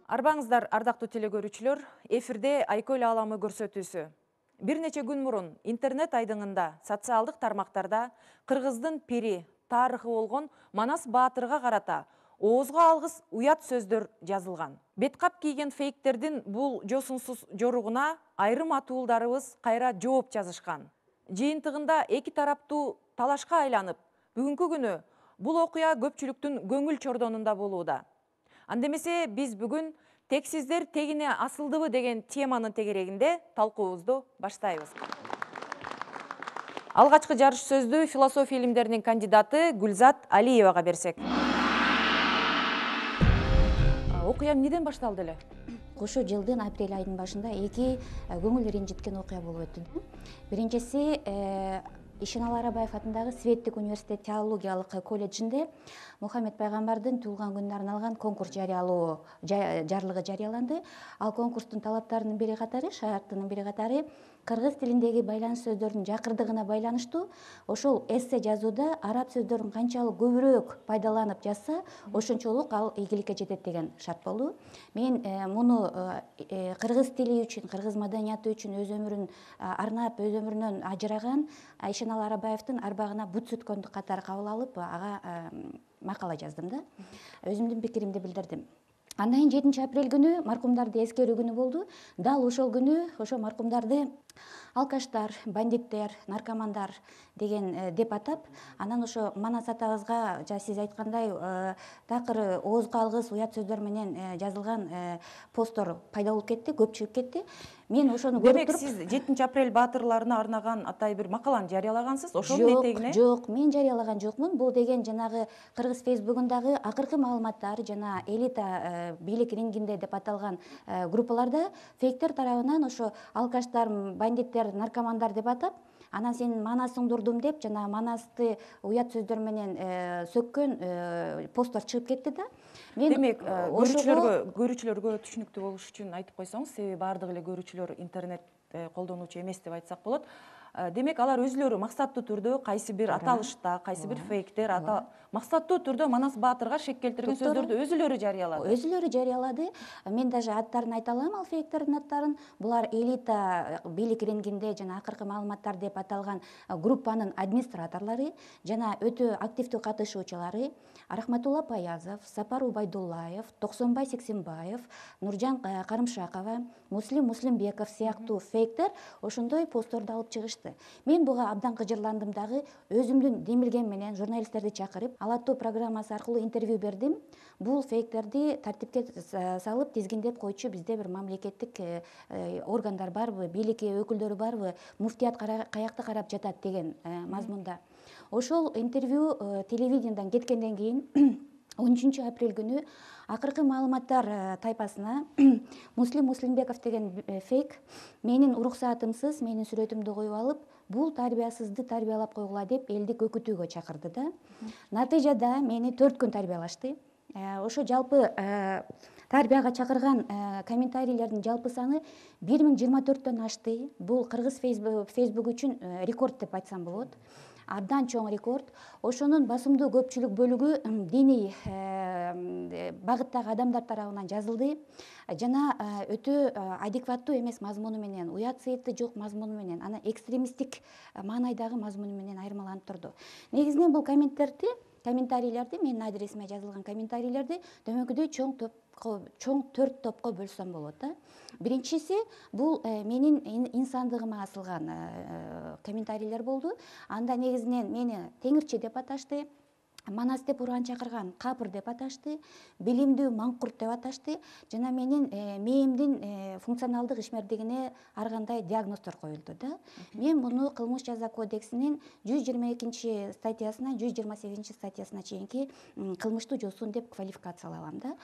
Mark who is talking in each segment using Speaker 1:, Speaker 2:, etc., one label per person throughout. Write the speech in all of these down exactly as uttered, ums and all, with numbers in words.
Speaker 1: Арбаңыздар, ардактуу телегөрүүчүлөр, эфирде Айкөл ааламы көрсөтүүсү. Бир нече күн мурун интернет айдыңында, социалдык тармактарда кыргыздын пири, тарыхы болгон Манас Баатырга карата оозго алгыс уят сөздөр жазылган. Беткап кийген фейктердин бул жосунсуз жоругуна айрым атуулдарыбыз кайра жооп жазышкан. Жыйынтыгында эки тараптуу талашка айланып, бүгүнкү күнү бул окуя көпчүлүктүн көңүл чордонунда болууда. Андемесе биз бүгүн тексиздер тегине асылдыбы деген теманын тегерегинде талкуубузду баштайбыз. Алгачкы жарыш сөздү философия илимдеринин кандидаты Гүлзат Алиевага берсек. Окуя эмнеден башталды эле?
Speaker 2: Ошо жылдын апрель айынын башында эки көңүл ренжиткен окуя болуп өттү. Биринчиси Ишеналы Арабаев атындагы Светтик университет теологиялык колледжинде Мухаммед пайгамбардын туулган күнүнө арналган конкурс жарыялоо жарлыгы жарыяланды. Ал конкурстун талаптарынын бири катары, шартынын бири катары кыргыз тилиндеги байланыш сөздөрдүн жакырдыгына байланыштуу ошол эссе жазууда араб сөздөрүн канчалык көбүрөөк пайдаланып жазса, ошончолук ал ийгиликке жетет деген шарт болду. Мен муну кыргыз тили үчүн, кыргыз маданияты үчүн өз өмүрүн арнап, өз өмүрүнөн ажыраган Ишеналы Арабаевдин арбагына бут сүткөндүк катары кабыл алып, ага макала жаздым да. Өзүмдүн пикиримди билдирдим. Андан кийин жетинчи апрель күнү маркумдарды эскерүү күнү болду. Дал ошол күнү ошо маркумдарды алкаштар, бандиттер, наркомандар деген деп атап, анан ошо Манас атабызга жана сиз айткандай такыр оозго алгыс уят сөздөр менен жазылган посттор пайда болуп кетти, көпчүлүк кетти. Мен ошону көрүп туруп,
Speaker 1: сиз жетинчи апрель баатырларына арнаган атай бир макаланы жарыялагансыз. Ошонун этегине?
Speaker 2: Жок, мен жарыялаган жокмун. Бул деген жанагы кыргыз фейсбугундагы акыркы маалыматтар жана элита бийлик рингинде деп аталган группаларда фейктер тарабынан ошо алкаштар, бандиттер, наркомандар деп атап, анан сен Манасыңды урдум деп жана Манасты уят сөздөр менен сөккөн посттор чыгып кетти да.
Speaker 1: Демек, көрүүчүлөргө көрүүчүлөргө түшүнүктүү болуш үчүн айтып койсоңуз, себеби баардык эле көрүүчүлөр интернет колдонуучу эмес деп айтсак болот. Демек, алар өзүлөрү максаттуу түрдө кайсы бир аталышта, кайсы бир фейктер максаттуу түрдө Манас Баатырга шек келтирген сөздөрдү өзүлөрү жарыялады.
Speaker 2: Өзүлөрү жарыялады. Мен даже аттарын айта алам, ал фейктердин аттарын. Булар элита бийлик рингинде жана акыркы маалыматтар деп аталган группанын администраторлору жана өтө активдүү катышуучулары Рахматулла Паязов, Сапар Убайдуллаев, Токсонбай Сексенбаев, Нуржан Карымшакова, Муслим Муслимбеков сыяктуу фейктер ошондой постторду алып чыгышты. Мен буга абдан кыжырландым дагы, өзүмдүн демилгем менен журналисттерди чакырып, Алаттуу программасы аркылуу интервью бердим. Бул фейктерди тартипке салып, тизгиндеп койчу бизде бир мамлекеттик органдар барбы, бийлик өкүлдөрү барбы, муфтият каякта карап жатат деген мазмунда. Ошол интервью телевидениеден кеткенден кийин он үчүнчү апрель күнү акыркы маалыматтар тайпасына Муслим Муслимбеков деген фейк менин уруксаатымсыз менин сүрөтүмдү коюп алып, бул тарбиясызды тарбиялап койгула деп элди көкүтүүгө чакырды да. Натыйжада мени төрт күн тарбиялашты. Ошо жалпы тарбияга чакырган комментарийлердин жалпы саны бир миң жыйырма төрттөн ашты. Бул кыргыз фейсбук үчүн рекорд деп айтсам болот. Абдан чоң рекорд. Ошонун басымдуу көпчүлүк бөлүгү диний багыттагы адамдар тарабынан жазылды жана өтө адекваттуу эмес мазмуну менен, уят сыйыты жок мазмуну менен, анан экстремисттик маанайдагы мазмуну менен айырмаланып турду. Негизинен бул комменттерди комментарийлерди, менин адресиме жазылган комментарийлерди дөмөкүдөй чоң топко, чоң төрт топко бөлсөм болот да. Биринчиси бул менин инсандыгыма асылган комментарийлер болду. Анда негизинен мени теңирчи деп аташты, Манас деп уран чакырган капыр деп аташты, билимдүү маңкурт деп аташты жана менин мээмдин функционалдык ишмердигине ар кандай диагноздор коюлду да. Мен муну кылмыш жаза кодексинин жүз жыйырма экинчи статьясына, жүз жыйырма сегизинчи статьясына чейинки кылмыштуу жосун деп квалификациялагам да.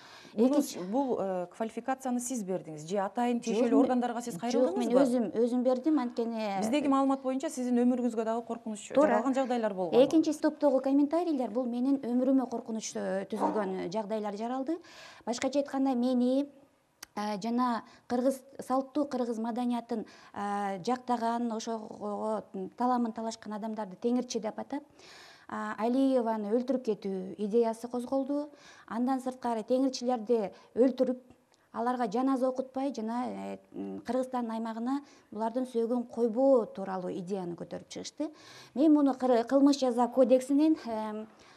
Speaker 1: Бул квалификацияны сиз бердиңиз же атайын тиешелүү органдарга сиз кайрылдыңызбы?
Speaker 2: Жок, мен өзүм өзүм бердим, анткени
Speaker 1: биздеги маалымат боюнча сиздин өмүрүңүзгө дагы коркунуч жаралган жагдайлар болгон.
Speaker 2: Экинчи топтогу комментарийлер бул менин өмүрүмө коркунуч түзүлгөн жагдайлар жаралды. Башкача айтканда, мени жана кыргыз салттуу кыргыз маданиятын жактаган, ошого таламын талашкан адамдарды теңирчи деп атап, Алиеваны өлтүрүп кетүү идеясы козголду. Андан сырткары теңирчилерди өлтүрүп, аларга жаназа окутпай жана Кыргызстандын аймагына булардын сөөгүн койбоо тууралуу идеяны көтөрүп чыгышты. Мен муну кылмыш жаза кодексинин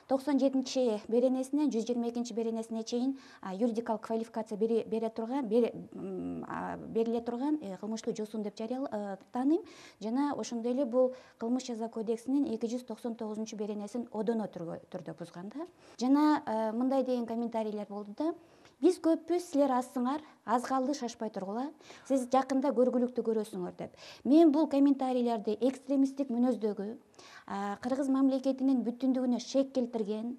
Speaker 2: токсон жетинчи беренесинен жүз жыйырма экинчи беренесине чейин юридикалык квалификация бере турган бериле турган кылмыштуу жосун деп тааныйм. Жана ошондой эле бул кылмыш жаза кодексинин эки жүз токсон тогузунчу беренесин одоно түрдө бузган да. Жана мындай деген комментарийлер болду да: биз көппүз, силер азсыңар, аз калды, шашпай тургула, сиз жакында көргүлүктү көрөсүңөр деп. Мен бул комментарийлерди экстремисттик мүнөздөгү, Кыргыз мамлекетинин бүтүндүгүнө шек келтирген,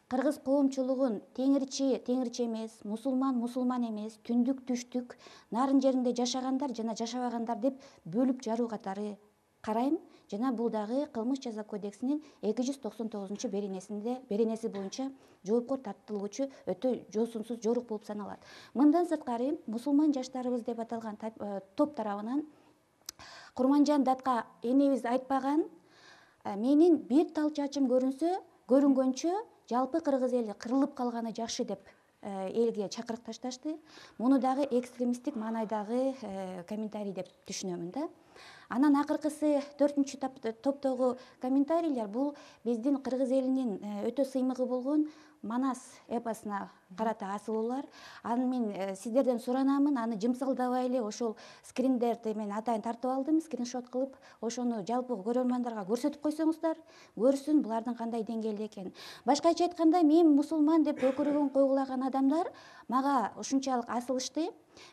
Speaker 2: кыргыз коомчулугун теңирчи теңирчи эмес, мусулман мусулман эмес, түндүк түштүк, нарын жеринде жашагандар жана жашабагандар деп бөлүп жаруу катары карайм. Жана бул дагы кылмыш жаза кодексинин эки жүз токсон тогузунчу беренесинде беренеси боюнча жоопкор тартылуучу өтө жосунсуз жорук болуп саналат. Мындан сырткары мусулман жаштарыбыз деп аталган топ тарабынан Курманжан Датка энебиз айтпаган: менин бир тал чачым көрүнсө, көрүнгөнчө жалпы кыргыз эли кырылып калганы жакшы деп элге чакырык ташташты. Муну дагы экстремисттик маанайдагы комментарий деп түшүнөмүн да. Анан акыркысы төртүнчү топтогу комментарийлер бул биздин кыргыз элинин өтө сыймыгы болгон Манас эпосуна карата асылуулар. Аны мен сиздерден суранамын, аны жымсалдабай эле ошол скриндерди мен атайын тартып алдым, скриншот кылып, ошону жалпы көрөрмандарга көрсөтүп койсоңуздар, көрсүн булардын кандай деңгээлде экенин. Башкача айтканда, мен мусулман деп өкүрүгүн койгулаган адамдар мага ушунчалык асылышты.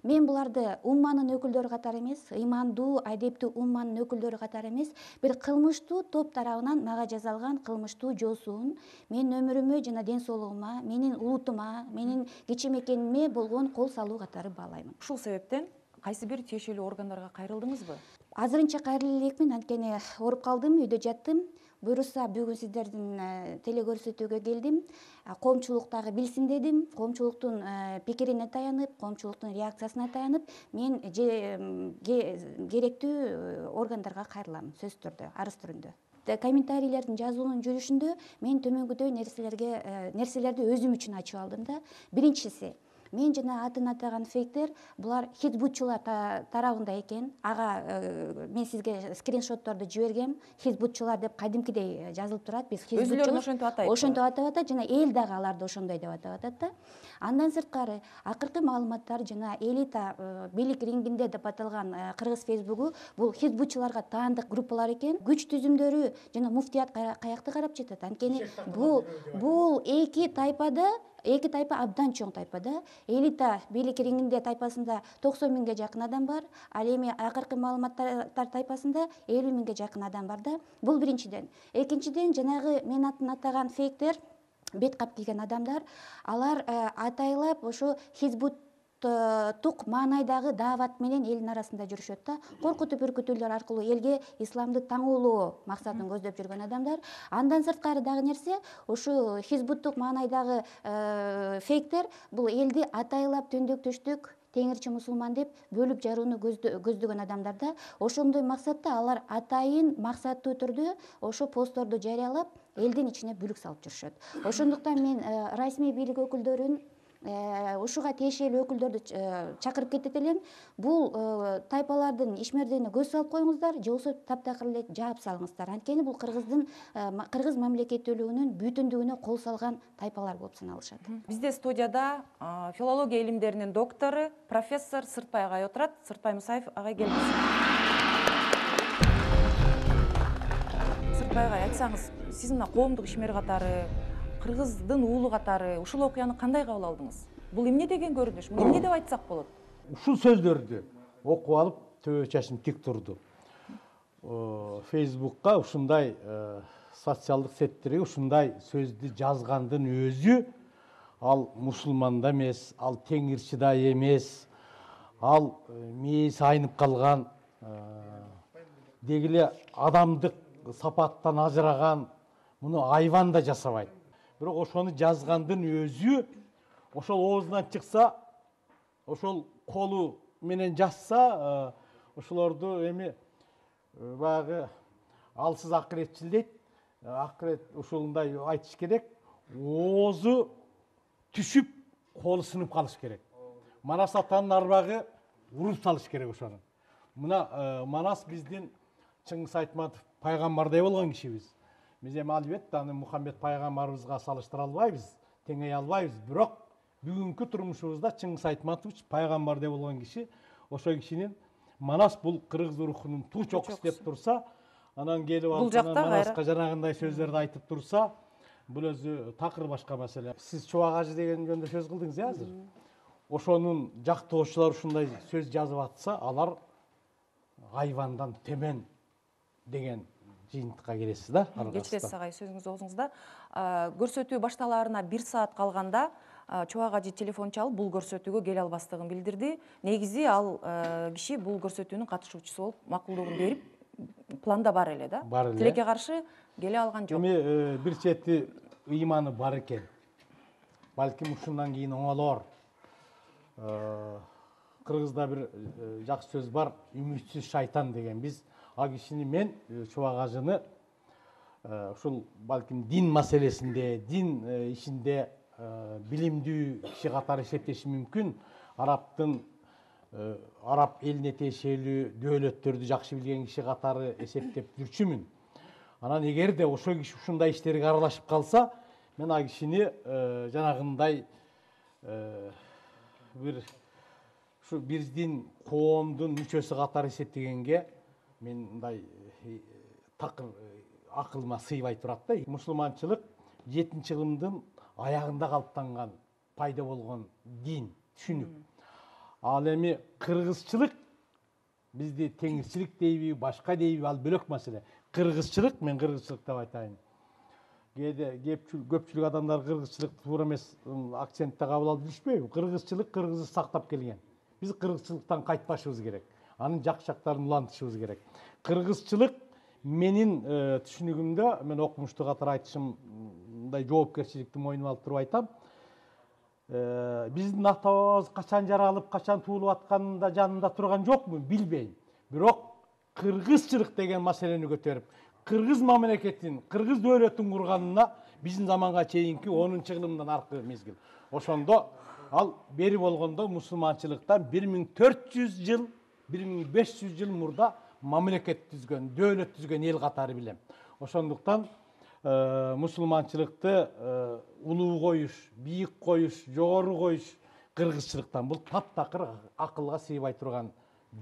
Speaker 2: Мен буларды умманын өкүлдөрү катары эмес, ыймандуу, адептүү умманын өкүлдөрү катары эмес, бир кылмыштуу топ тарабынан мага жасалган кылмыштуу жоосун менин өмүрүмө жана ден соолугума, менин улутума, менин кичи мекениме болгон кол салуу катары баалаймын.
Speaker 1: Ушул себептен кайсы бир тиешелүү органдарга кайрылдыңызбы?
Speaker 2: Азырынча кайрыла элекмин, анткени ооруп калдым, үйдө жаттым. Буюрса бүгүн сиздердин телекөрсөтүүгө келдим. Коомчулук дагы билсин дедим. Коомчулуктун пикирине таянып, коомчулуктун реакциясына таянып, мен керектүү органдарга кайрылам, сөзсүз түрдө, арыз түрүндө. Комментарийлердин жазуунун жүрүшүндө мен төмөнгүдөй нерселерге нерселерди өзүм үчүн ачып алдым да. Биринчиси, мен жана атын атаган фейктер булар хизбутчулар тарабында экен. Ага мен сизге скриншотторду жибергем. Хизбутчулар деп кадимкидей жазылып турат. Биз
Speaker 1: өзүлөрүн ошентип атайт.
Speaker 2: Ошентип атап атат жана эл дагы аларды ошондой деп атап атат да. Андан сырткары акыркы маалыматтар жана элита бийлик рингинде деп аталган кыргыз фейсбугу бул хизбутчуларга таандык группалар экен. Күч түзүмдөрү жана муфтият каякты карап жатат. Анткени бул бул эки тайпада Эки тайпа абдан чоң тайпа да. Элита бийлик рингинде тайпасында токсон миңге жакын адам бар. Ал эми акыркы маалыматтар тайпасында элүү миңге жакын адам бар да. Бул биринчиден. Экинчиден, жанагы мен атын атаган фейктер, бет кап кийген адамдар, алар атайлап ошо хизбут тук маанайдагы даават менен элдин арасында жүрүшөт да. Коркутуп үркүтүүлөр аркылуу элге исламды таңоолоо максатын көздөп жүргөн адамдар. Андан сырткары дагы нерсе, ушу хизбуттук маанайдагы фейктер бул элди атайлап түндүк түштүк, теңирчи мусулман деп бөлүп жарууну көздөгөн адамдар да. Ошондой максатта алар атайын максаттуу түрдө ошо постторду жарыялап элдин ичине бүлүк салып жүрүшөт. Ошондуктан мен расмий бийлик өкүлдөрүн ушуга тиешелүү өкүлдөрдү чакырып кетет элем. Бул тайпалардын ишмердигине көз салып коюңуздар, же болбосо таптакыр эле жаап салыңыздар. Анткени бул кыргыздын кыргыз мамлекеттүүлүгүнүн бүтүндүгүнө кол салган тайпалар болуп саналышат.
Speaker 1: Бизде студияда филология илимдеринин доктору, профессор Сыртбай агай отурат. Сыртбай Мусаев агай, келиңиз. Сыртбай агай, айтсаңыз, сиз мына коомдук ишмер катары, кыргыздын уулу катары ушул окуяны кандай кабыл алдыңыз? Бул эмне деген көрүнүш? Муну эмне деп айтсак болот?
Speaker 3: Ушул сөздөрдү окуп алып, төбө чачым тик турду. Фейсбукка ушундай социалдык сеттерге ушундай сөздү жазгандын өзү, ал мусулман да эмес, ал теңирчи да эмес, ал мээси айнып калган, дегиле адамдык сапаттан ажыраган, муну айван да жасабайт. Бирок ошону жазгандын өзү, ошол оозунан чыкса, ошол колу менен жазса, ошолорду эми баягы алсыз акыретчил дейт, акырет ушундай айтыш керек. Оозу түшүп, колу сынып калыш керек. Манас атанын арбагы уруп салыш керек ошону. Мына Манас биздин Чыңгыз Айтматов пайгамбардай болгон кишибиз. Биз эми албетте аны Мухаммед пайгамбарыбызга салыштыра албайбыз, теңей албайбыз. Бирок бүгүнкү турмушубузда Чыңгыз Айтматович пайгамбардай болгон киши. Ошол кишинин Манас бул кыргыз рухунун туу чокусу деп турса, анан келип алып Манаска жанагындай сөздөрдү айтып турса, бул өзү такыр башка маселе. Сиз Чубак ажы деген жөнүндө сөз кылдыңыз э азыр. Ошонун жактоочулар ушундай сөз жазып атса, алар айвандан төмөн деген жыйынтыкка келесиз да.
Speaker 1: Кечиресиз агай, сөзүңүз оозуңузда. Көрсөтүү башталаарына бир саат калганда Чубак ажы телефон чалып бул көрсөтүүгө келе албастыгын билдирди. Негизи ал киши бул көрсөтүүнүн катышуучусу болуп макулдугун берип, планда бар эле да. Тилекке каршы келе алган жок.
Speaker 3: Эми бир чети ыйманы бар экен. Балким ушундан кийин оңолор. Кыргызда бир жакшы сөз бар, үмүтсүз шайтан деген. Биз а кишини мен Чубак ажыны ушул балким дин маселесинде, дин ишинде билимдүү киши катары эсептешим мүмкүн. Арабтын араб элине тиешелүү дөөлөттөрдү жакшы билген киши катары эсептеп жүрчүмүн. Анан эгерде ошол киши ушундай иштерге аралашып калса, мен а кишини жанагындай бир ушу биздин коомдун мүчөсү катары эсептегенге мен мындай такыр акылыма сыйбай турат да. Мусулманчылык жетинчи кылымдын аягында калыптанган пайда болгон дин, түшүнүк. Ал эми кыргызчылык бизди теңирчилик дейби, башка дейби, ал бөлөк маселе. Кыргызчылык, мен кыргызчылык деп айтайын. Кээде көпчүлүк адамдар кыргызчылыкты туура эмес акцентте кабыл алып жүрүшпөйбү? Кыргызчылык кыргызды сактап келген. Биз кыргызчылыктан кайтпашыбыз керек. Анын жакшы жактарын улантышыбыз керек. Кыргызчылык менин түшүнүгүмдө, мен окумуштуу катары айтышым, мындай жоопкерчиликти мойнума алып туруп айтам. Биздин атабыз качан жаралып, качан туулуп атканын да жанында турган жокмун, билбейм. Бирок кыргызчылык деген маселени көтөрүп, кыргыз мамлекетин, кыргыз дөөлөтүн курганына биздин заманга чейинки онунчу кылымдан аркы мезгил. Ошондо ал бери болгондо мусулманчылыктан бир миң төрт жүз жыл, бир миң беш жүз жыл мурда мамлекет түзгөн, дөөлөт түзгөн эл катары билем. Ошондуктан мусулманчылыкты улуу коюш, бийик коюш, жогору коюш кыргызчылыктан бул таптакыр акылга сыйбай турган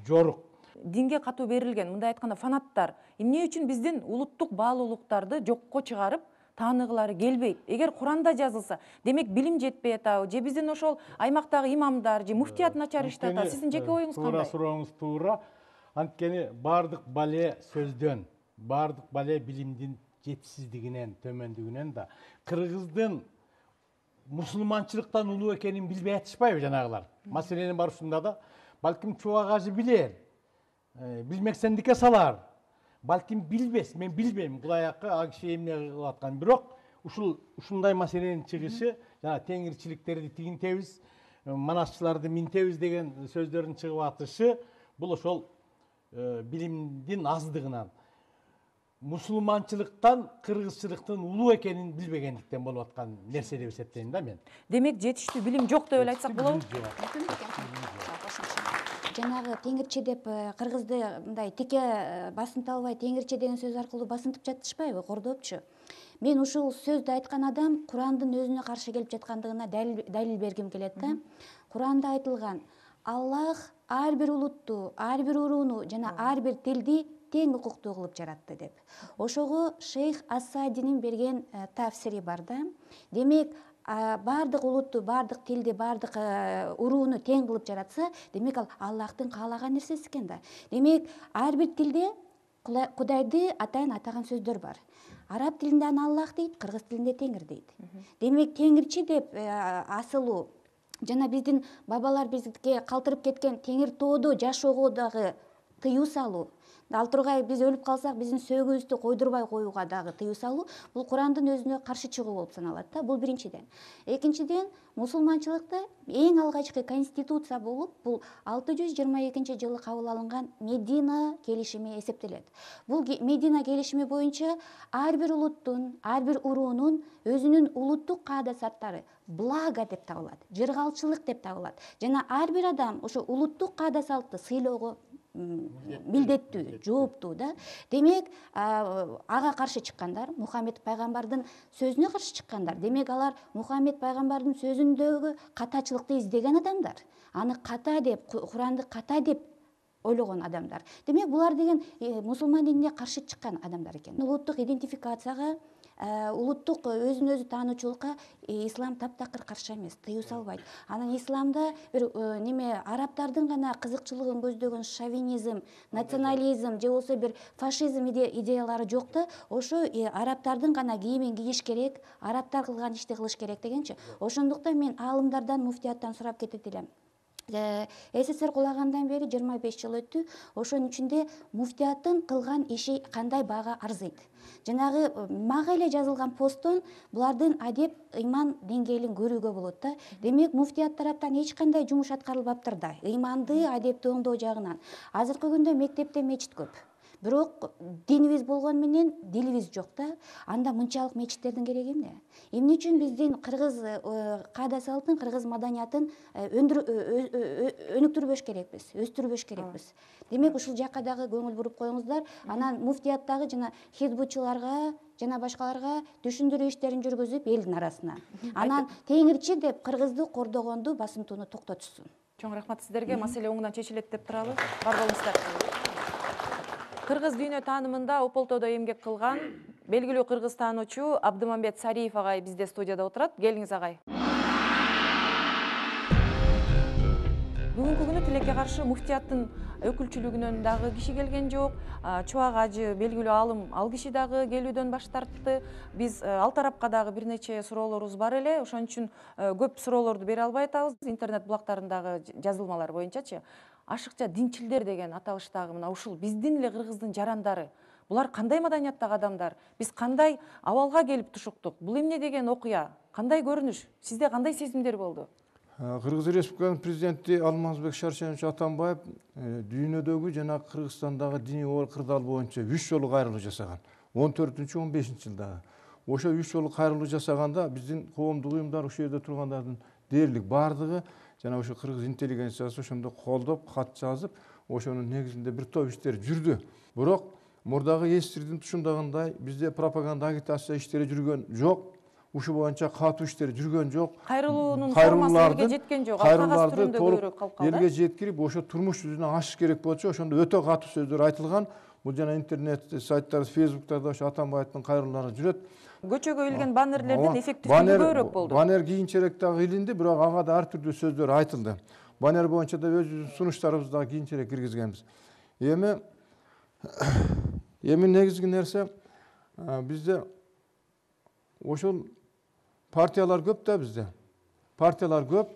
Speaker 3: жорук.
Speaker 1: Динге катуу берилген, мындай айтканда фанаттар эмне үчүн биздин улуттук баалуулуктарды жокко чыгарып тааныгылары келбейт? Эгер Куранда жазылса, демек билим жетпей атабы, же биздин ошол аймактагы имамдар, же муфтият начар иштеп атат. Сиздин жеке оюңуз кандай?
Speaker 3: Туура сурооңуз туура. Анткени бардык бале сөздөн, бардык бале билимдин жетишсиздигинен, төмөндүгүнөн да кыргыздын мусулманчылыктан улуу экенин билбей атышпайбы жанагылар? Маселенин бар ушунда да. Балким Чубак ажы билер, билмексендикке салар. Балким билбес, мен билбейм кулаякка а киши эмне кылып атканын. Бирок ушул ушундай маселенин чыгышы, жана теңирчиликтерди тигинтебиз, манасчыларды минтебиз деген сөздөрдүн чыгып атышы, бул ошол билимдин аздыгынан, мусулманчылыктан кыргызчылыктын улуу экенин билбегендиктен болуп аткан нерсе деп эсептейм да мен.
Speaker 1: Демек жетиштүү билим жок деп эле айтсак болобу?
Speaker 2: Жанагы теңирчи деп кыргызды мындай тике басынтып албай теңирчи деген сөз аркылуу басынтып жатышпайбы, кордопчу? Мен ушул сөздү айткан адам Курандын өзүнө каршы келип жаткандыгына далил бергим келет да. Куранда айтылган Аллах ар бир улутту, ар бир урууну жана ар бир тилди тең укуктуу кылып жаратты деп. Ошого Шейх Ас-Саадинин берген тафсири бар да. Демек бардык улутту, бардык тилди, бардык урууну тең кылып жаратса, демек ал Аллахтын каалаган нерсеси экен да. Демек ар бир тилде Кудайды атайын атаган сөздөр бар. Араб тилинде аны Аллах дейт, кыргыз тилинде Теңир дейт. Демек теңирчи деп асылуу жана биздин бабалар бизге калтырып кеткен Теңир тоодо жашоого дагы тыюу салуу, Ал тургай биз өлүп калсак биздин сөөгүбүздү койдурбай коюуга дагы тыюу салуу бул Курандын өзүнө каршы чыгуу болуп саналат да. Бул биринчиден. Экинчиден, мусулманчылыкта эң алгачкы конституция болуп, бул алты жүз жыйырма экинчи жылы кабыл алынган Медина келишими эсептелет. Бул Медина келишими боюнча ар бир улуттун, ар бир уруунун өзүнүн улуттук каада сарттары благо деп табылат, жыргалчылык деп табылат. Жана ар бир адам ошо улуттук каада салтты сыйлоого милдеттүү, жооптуу да. Демек, ага каршы чыккандар, Мухаммед пайгамбардын сөзүнө каршы чыккандар. Демек, алар Мухаммед пайгамбардын сөзүндөгү катачылыкты издеген адамдар. Аны ката деп, Куранды ката деп ойлогон адамдар. Демек, булар деген мусулман динине каршы чыккан адамдар экен. Улуттук идентификацияга, улуттук өзүн өзү таануучулукка ислам таптакыр каршы эмес, тыюу салбайт. Анан исламда бир неме арабтардын гана кызыкчылыгын көздөгөн шовинизм, национализм же болбосо бир фашизм идеялары жок да, ошо арабтардын гана кийимин кийиш керек, арабтар кылган ишти кылыш керек дегенчи. Ошондуктан мен аалымдардан, муфтияттан сурап кетет элем. СССР кулагандан бери жыйырма беш жыл өттү. Ошонун ичинде муфтияттын кылган иши кандай баага арзыйт. Жанагы мага эле жазылган посттон булардын адеп, ыйман деңгээлин көрүүгө болот да. Демек, муфтият тараптан эч кандай жумуш аткарылбаптыр да. Ыйманды, адепти оңдоо жагынан. Азыркы күндө мектепте мечит көп. Бирок динибиз болгон менен дилибиз жок да. Анда мынчалык мечиттердин кереги эмне? Эмне үчүн биздин кыргыз каада салтын, кыргыз маданиятын өнүктүрбөш керекпиз, өстүрбөш керекпиз. Демек, ушул жакка дагы көңүл буруп коюңуздар. Анан муфтияттагы жана хизбутчуларга жана башкаларга түшүндүрүү иштерин жүргүзүп элдин арасына. Анан теңирчи деп кыргызды кордогонду, басынтууну токтотушсун.
Speaker 1: Чоң рахмат сиздерге. Маселе оңунан чечилет деп туралы. Бар болуңуздар. Кыргыз дүйнө таанымында Ополтодо эмгек кылган белгилүү кыргыз таануучу Абдымамбет Сариев агай бизде студияда отурат. Келиңиз агай. Бүгүнкү күнү тилекке каршы муфтияттын өкүлчүлүгүнөн дагы киши келген жок. Чубак ажы белгилүү алым ал киши дагы келүүдөн баш тартты. Биз ал тарапка дагы бир нече суроолорубуз бар эле. Ошон үчүн көп суроолорду бере албай атабыз. Интернет блогтарындагы жазылмалар боюнчачы ашыкча динчилдер деген аталыштагы мына ушул биздин эле кыргыздын жарандары. Булар кандай маданияттагы адамдар? Биз кандай абалга келип тушуктук? Бул эмне деген окуя? Кандай көрүнүш? Сизде кандай сезимдер болду?
Speaker 4: Кыргыз Республикасынын президенти Алмазбек Шаршенович Атамбаев дүйнөдөгү жана Кыргызстандагы диний кырдаал боюнча үч жолу кайрылуу жасаган. он төртүнчү он бешинчи жылдагы. Ошо үч жолу кайрылуу жасаганда биздин коомдук уюмдар, ушул жерде тургандардын дээрлик бардыгы жана ошо кыргыз интеллигенциясы ошондо колдоп, кат жазып, ошонун негизинде бир топ иштер жүрдү. Бирок мурдагы эсирдин тушундагандай бизде пропаганда агитация иштери жүргөн жок. Ушул боюнча катуу иштер жүргөн жок.
Speaker 1: Кайрылуунун формасы элге жеткен жок. Кагаз түрүндө көбүрөөк калып калды.
Speaker 4: Элге жеткирип, ошо турмуш жүзүнө ашыш керек болчу. Ошондо өтө катуу сөздөр айтылган. Бул жана интернет сайттар, Facebooктарда ошо Атамбаевдин кайрылуулары жүрөт.
Speaker 1: Көчөгө илген баннерлердин эффективдүүлүгү көбүрөөк болду.
Speaker 4: Баннер кийинчерээк дагы илинди, бирок ага да ар түрдүү сөздөр айтылды. Баннер боюнча да өзүбүздүн сунуштарыбызды дагы кийинчерээк киргизгенбиз. Эми эми негизги нерсе бизде ошол партиялар көп да бизде. Партиялар көп,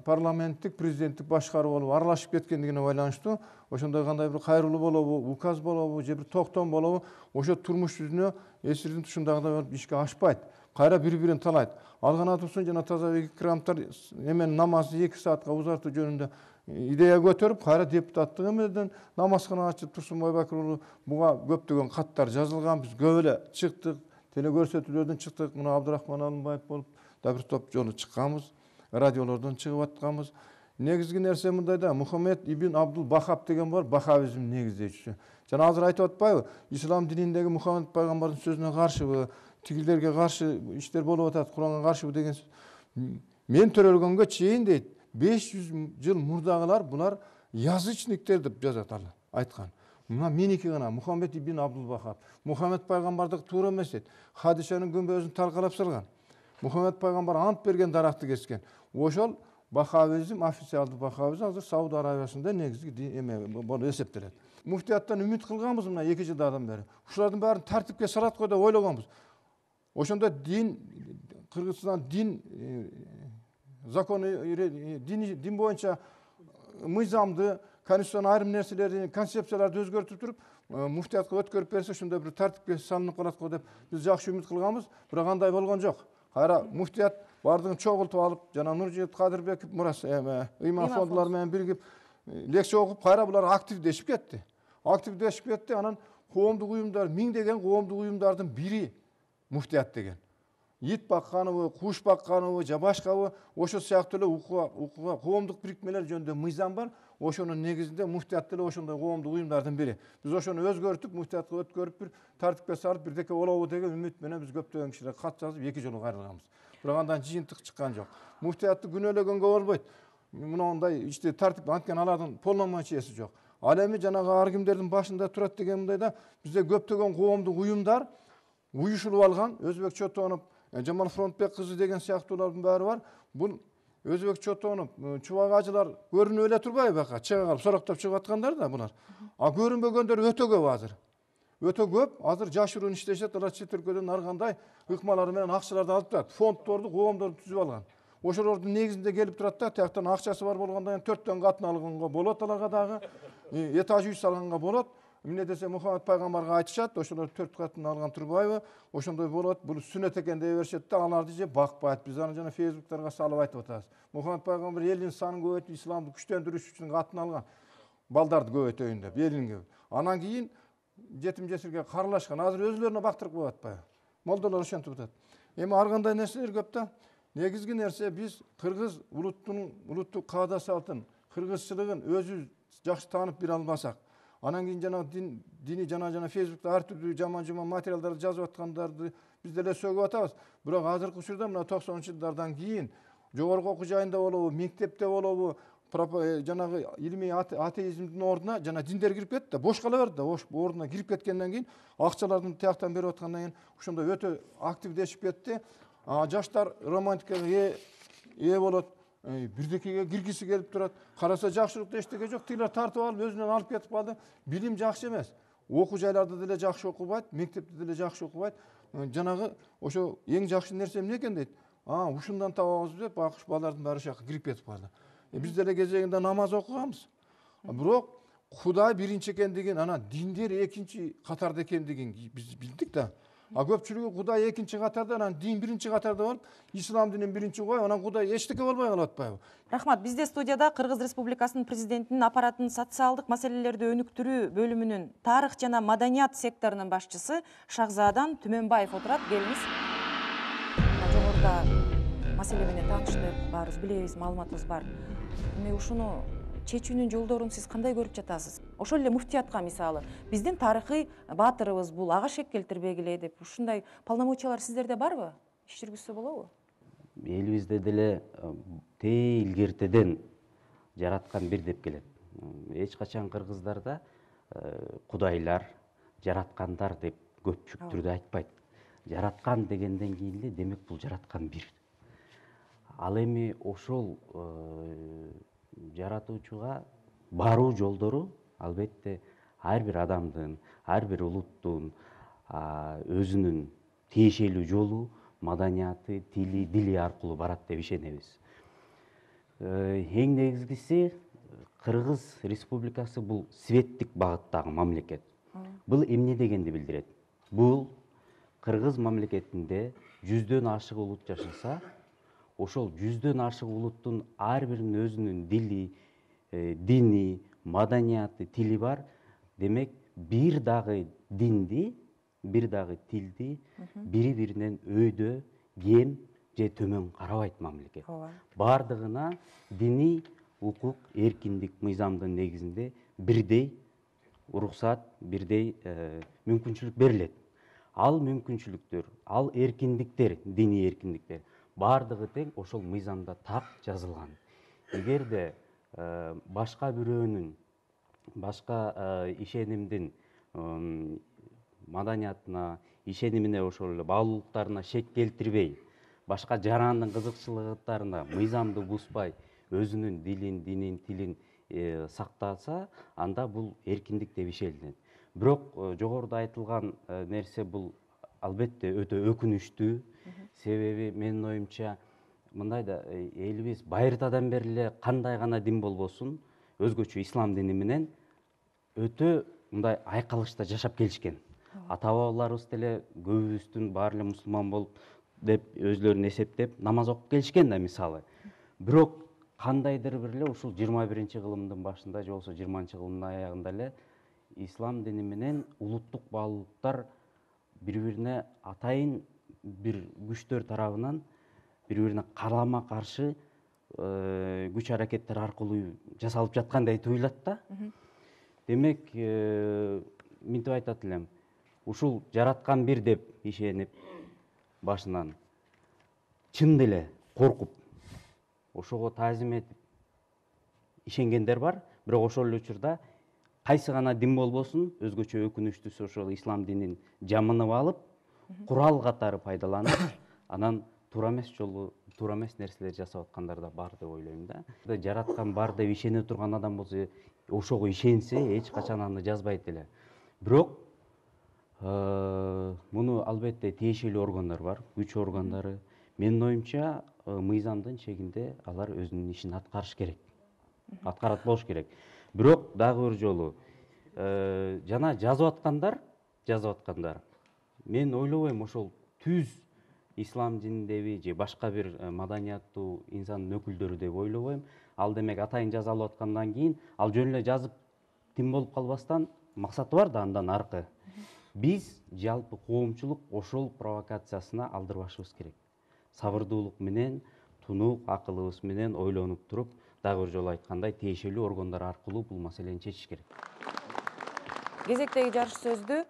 Speaker 4: парламенттик, президенттик башкаруу болуп аралашып кеткендигине байланыштуу, ошондой кандай бир кайрылуу болобу, указ болобу, же бир токтом болобу, ошо турмуш жүзүнө эсирдин тушундагыдай болуп ишке ашпайт. Кайра бири-бирин талайт. Алган Турсун жана Тазабек Икрамтар эмен намазды эки саатка узартуу жөнүндө идея көтөрүп, кайра депутаттык эмеден намазкана ачып Турсунбай Бакыр уулу буга көптөгөн каттар жазылган. Биз көп эле чыктык, телекөрсөтүүлөрдөн чыктык. Мына Абдырахман Алымбаев болуп да бир топ жолу чыкканбыз. Радиолордон чыгып атканбыз. Негизги нерсе мындай да, Мухаммед ибн Абдул Бахаб деген бар, бахабизм негиздечүсү. Жана азыр айтып атпайбы? Ислам дининдеги Мухаммед пайгамбардын сөзүнө каршыбы, тигилерге каршы иштер болуп атат, Куранга каршыбы деген. Мен төрөлгөнгө чейин дейт, беш жүз жыл мурдагылар булар язычниктер деп жазат ал, айткан. Мына меники гана Мухаммед ибн Абдул Бахаб. Мухаммед пайгамбардык туура эмес дейт. Хадишанын күмбөзүн талкалап салган. Мухаммед пайгамбар ант берген даракты кескен. Ошол бахабизм, официалдуу бахабизм азыр Сауд Арабиясында негизги эме болуп эсептелет. Муфтияттан үмүт кылганбыз мына эки жылдан бери. Ушулардын баарын тартипке салат го деп ойлогонбуз. Ошондо дин, Кыргызстан дин законы, дин боюнча мыйзамды, конституциянын айрым нерселерин, концепцияларды өзгөртүп туруп, муфтиятка өткөрүп берсе, ошондой бир тартипке салынып калат го деп биз жакшы үмүт кылганбыз. Бирок андай болгон жок. Кайра муфтият бардыгын чогултуп алып, жана Нуржигит Кадырбеков мурас ыйман фондулар менен биригип лекция окуп, кайра булар активдешип кетти. Активдешип кетти. Анан коомдук уюмдар, миңдеген коомдук уюмдардын бири муфтият деген. Ит бакканыбы, куш бакканыбы, же башкабы, ошол сыяктуу эле укуга, коомдук бирикмелер жөнүндө мыйзам бар. Ошонун негизинде муфтият деле ошондой коомдук уюмдардын бири. Биз ошону өзгөртүп, муфтиятка өткөрүп, бир тартипке салып, бирдеке болобу деген үмүт менен биз көптөгөн кишилер кат жазып, эки жолу кайрылганбыз. Бирок андан жыйынтык чыккан жок. Муфтиятты күнөөлөгөнгө болбойт. Мындай ичте тартип анткени алардын полномочиясы жок. Ал эми жанагы ар кимдердин башында турат деген мындайда бизде көптөгөн коомдук уюмдар уюшулуп алган. Өзбек Чотонов, Жамал Фронтбек кызы деген сыяктуулардын баары бар. Бул Өзбек Чотонов, Чубак ажылар көрүнүп эле турбайбы бака? Чыга калып сороктоп чыгып аткандар да булар. А көрүнбөгөндөр өтө көп азыр. Өтө көп. Азыр жашыруун иштешет, алар чет өлкөдөн ар кандай ыкмалары менен акчаларды алып турат. Фонддорду, коомдорду түзүп алган. Ошолордун негизинде келип турат да, тияктан акчасы бар болгондон кийин төрттөн катын алганга болот, аларга дагы этаж үй салганга болот. Эмне десе Мухаммед пайгамбарга айтышат, ошолор төрт катын алган турбайбы? Ошондой болот. Бул сүннөт экен дей беришет да, аларды же бакпайт. Биз аны жана фейсбуктарга салып айтып атабыз. Мухаммед пайгамбар элдин санын көбөйтүп, исламды күчтөндүрүш үчүн катын алган. Балдарды көбөйтөйүн деп, элин көп. Анан кийин жетим жесирге каралашкан. Азыр өзүлөрүнө бактырып коюп атпайбы? Молдолор ошентип атат. Эми ар кандай нерселер көп да. Негизги нерсе биз кыргыз улуттун улуттук каада салтын, кыргызчылыгын өзүбүз жакшы таанып бере албасак, анан кийин жана диний жана жана фейсбукта ар түрдүү жаман-жаман материалдарды жазып аткандарды биз деле сөгүп атабыз. Бирок азыркы учурда мына токсонунчу жылдардан кийин жогорку окуу жайында болобу, мектепте болобу, жанагы илимий атеизмдин ордуна жана диндер кирип кетти да, бош кала берди да. Ордуна кирип кеткенден кийин акчалардын тияктан берип аткандан кийин ошондой өтө активдешип кетти. Жаштар романтикага ээ болот, бирдекеге киргиси келип турат. Караса жакшылыкта эчтеке жок, тилер тартып алып өзүнөн алып кетип калды. Билим жакшы эмес. Окуу жайларда деле жакшы окубайт, мектепте деле жакшы окубайт. Жанагы ошо эң жакшы нерсе эмне экен дейт. А, ушундан табабыз деп акыш балдардын баары ошол жака кирип кетип калды. Биз деле кезегинде намаз окуганбыз. Бирок Кудай биринчи экендигин, анан диндер экинчи катарда экендигин биз билдик да. А көпчүлүгү Кудай экинчи катарда, анан дин биринчи катарда болуп, ислам динин биринчи коюп, анан Кудай эчтеке болбой калып атпайбы?
Speaker 1: Рахмат. Бизде студияда Кыргыз Республикасынын президентинин аппаратынын социалдык маселелерди өнүктүрүү бөлүмүнүн тарых жана маданият секторунун башчысы Шахзадан Түмөнбаев отурат. Келиңиз. Жогоруда маселе менен тааныштык, баарыбыз билебиз, маалыматыбыз бар. Эми ушуну чечүүнүн жолдорун сиз кандай көрүп жатасыз? Ошол эле муфтиятка мисалы, биздин тарыхый баатырыбыз бул, ага шек келтирбегиле деп, ушундай полномочиялар сиздерде барбы? Иш жүргүзсө болобу?
Speaker 5: Элибизде деле тээ илгертеден жараткан бир деп келет. Эч качан кыргыздарда кудайлар, жараткандар деп көпчүк түрдө айтпайт. Жараткан дегенден кийин эле демек бул жараткан бир. Ал эми ошол жаратуучуга баруу жолдору албетте ар бир адамдын, ар бир улуттун өзүнүн тиешелүү жолу, маданияты, тили, дили аркылуу барат деп ишенебиз. Эң негизгиси Кыргыз Республикасы бул светтик багыттагы мамлекет. Бул эмне дегенди билдирет? Бул Кыргыз мамлекетинде жүздөн ашык улут жашаса, ошол жүздөн ашык улуттун ар биринин өзүнүн дили, дини, маданияты, тили бар. Демек, бир дагы динди, бир дагы тилди бири-биринен өйдө, кем же төмөн карабайт мамлекет. Бардыгына дини, укук, эркиндик, мыйзамдын негизинде бирдей уруксат, бирдей мүмкүнчүлүк берилет. Ал мүмкүнчүлүктөр, ал эркиндиктер, дини эркиндиктер бардыгы тең ошол мыйзамда так жазылган. Эгерде башка бирөөнүн, башка ишенимдин маданиятына, ишенимине, ошол эле баалуулуктарына шек келтирбей, башка жарандын кызыкчылыктарына мыйзамды бузбай, өзүнүн дилин, динин, тилин сактаса, анда бул эркиндик деп ишенилет. Бирок жогоруда айтылган нерсе бул албетте өтө өкүнүчтүү. Себеби менин оюмча мындай да, элибиз байыртадан бери эле кандай гана дин болбосун, өзгөчө ислам дини менен өтө мындай айкалышта жашап келишкен. Ата бабаларыбыз деле көбүбүздүн баары эле мусулман болуп деп өзлөрүн эсептеп намаз окуп келишкен да мисалы. Бирок кандайдыр бир эле ушул жыйырма биринчи кылымдын башында же болбосо жыйырманчы кылымдын аягында эле ислам дини менен улуттук баалуулуктар бири-бирине атайын бир күчтөр тарабынан бири-бирине карама каршы күч аракеттер аркылуу жасалып жаткандай туюлат да. Демек, мынтип айтат элем, ушул жараткан бир деп ишенип башынан чын деле коркуп ошого таазим этип ишенгендер бар, бирок ошол эле учурда кайсы гана дин болбосун, өзгөчө өкүнүчтүүсү ошол ислам динин жамынып алып, курал катары пайдаланып, анан туура эмес жолу, туура эмес нерселер жасап аткандар да бар деп ойлойм да. Жараткан бар деп ишене турган адам болсо, ошого ишенсе, эч качан аны жазбайт эле. Бирок муну албетте тиешелүү органдар бар, күч органдары. Менин оюмча, мыйзамдын чегинде алар өзүнүн ишин аткарыш керек. Аткарат болуш керек. Бирок дагы бир жолу жана жазып аткандар, жазып аткандар. Мен ойлобойм ошол түз ислам дининдеби же башка бир маданияттуу инсандын өкүлдөрү деп ойлобойм. Ал демек атайын жазалып аткандан кийин, ал жөн эле жазып тим болуп калбастан максаты бар да андан аркы. Биз жалпы коомчулук ошол провокациясына алдырбашыбыз керек. Сабырдуулук менен, тунук акылыбыз менен ойлонуп туруп, дагы бир жолу айткандай, тиешелүү органдар аркылуу бул маселени чечиш керек.
Speaker 1: Кезектеги жарыш сөздү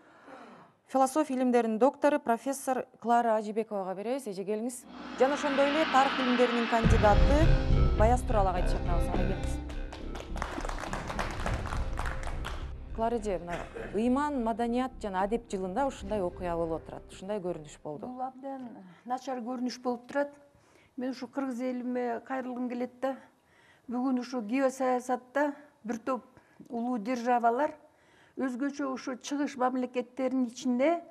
Speaker 1: философия илимдеринин доктору профессор Клара Ажибековага беребиз. Эже келиңиз. Жана ошондой эле тарых илимдеринин кандидаты Баяз Турал агайды чакырабыз. Ага келиңиз. Клара эже, мына ыйман, маданият жана адеп жылында ушундай окуя болуп отурат. Ушундай көрүнүш болду.
Speaker 6: Бул абдан начар көрүнүш болуп турат. Мен ушу кыргыз элиме кайрылгым келет да. Бүгүн ушу геосаясатта бир топ улуу державалар өзгөчө ушу чыгыш мамлекеттеринин ичинде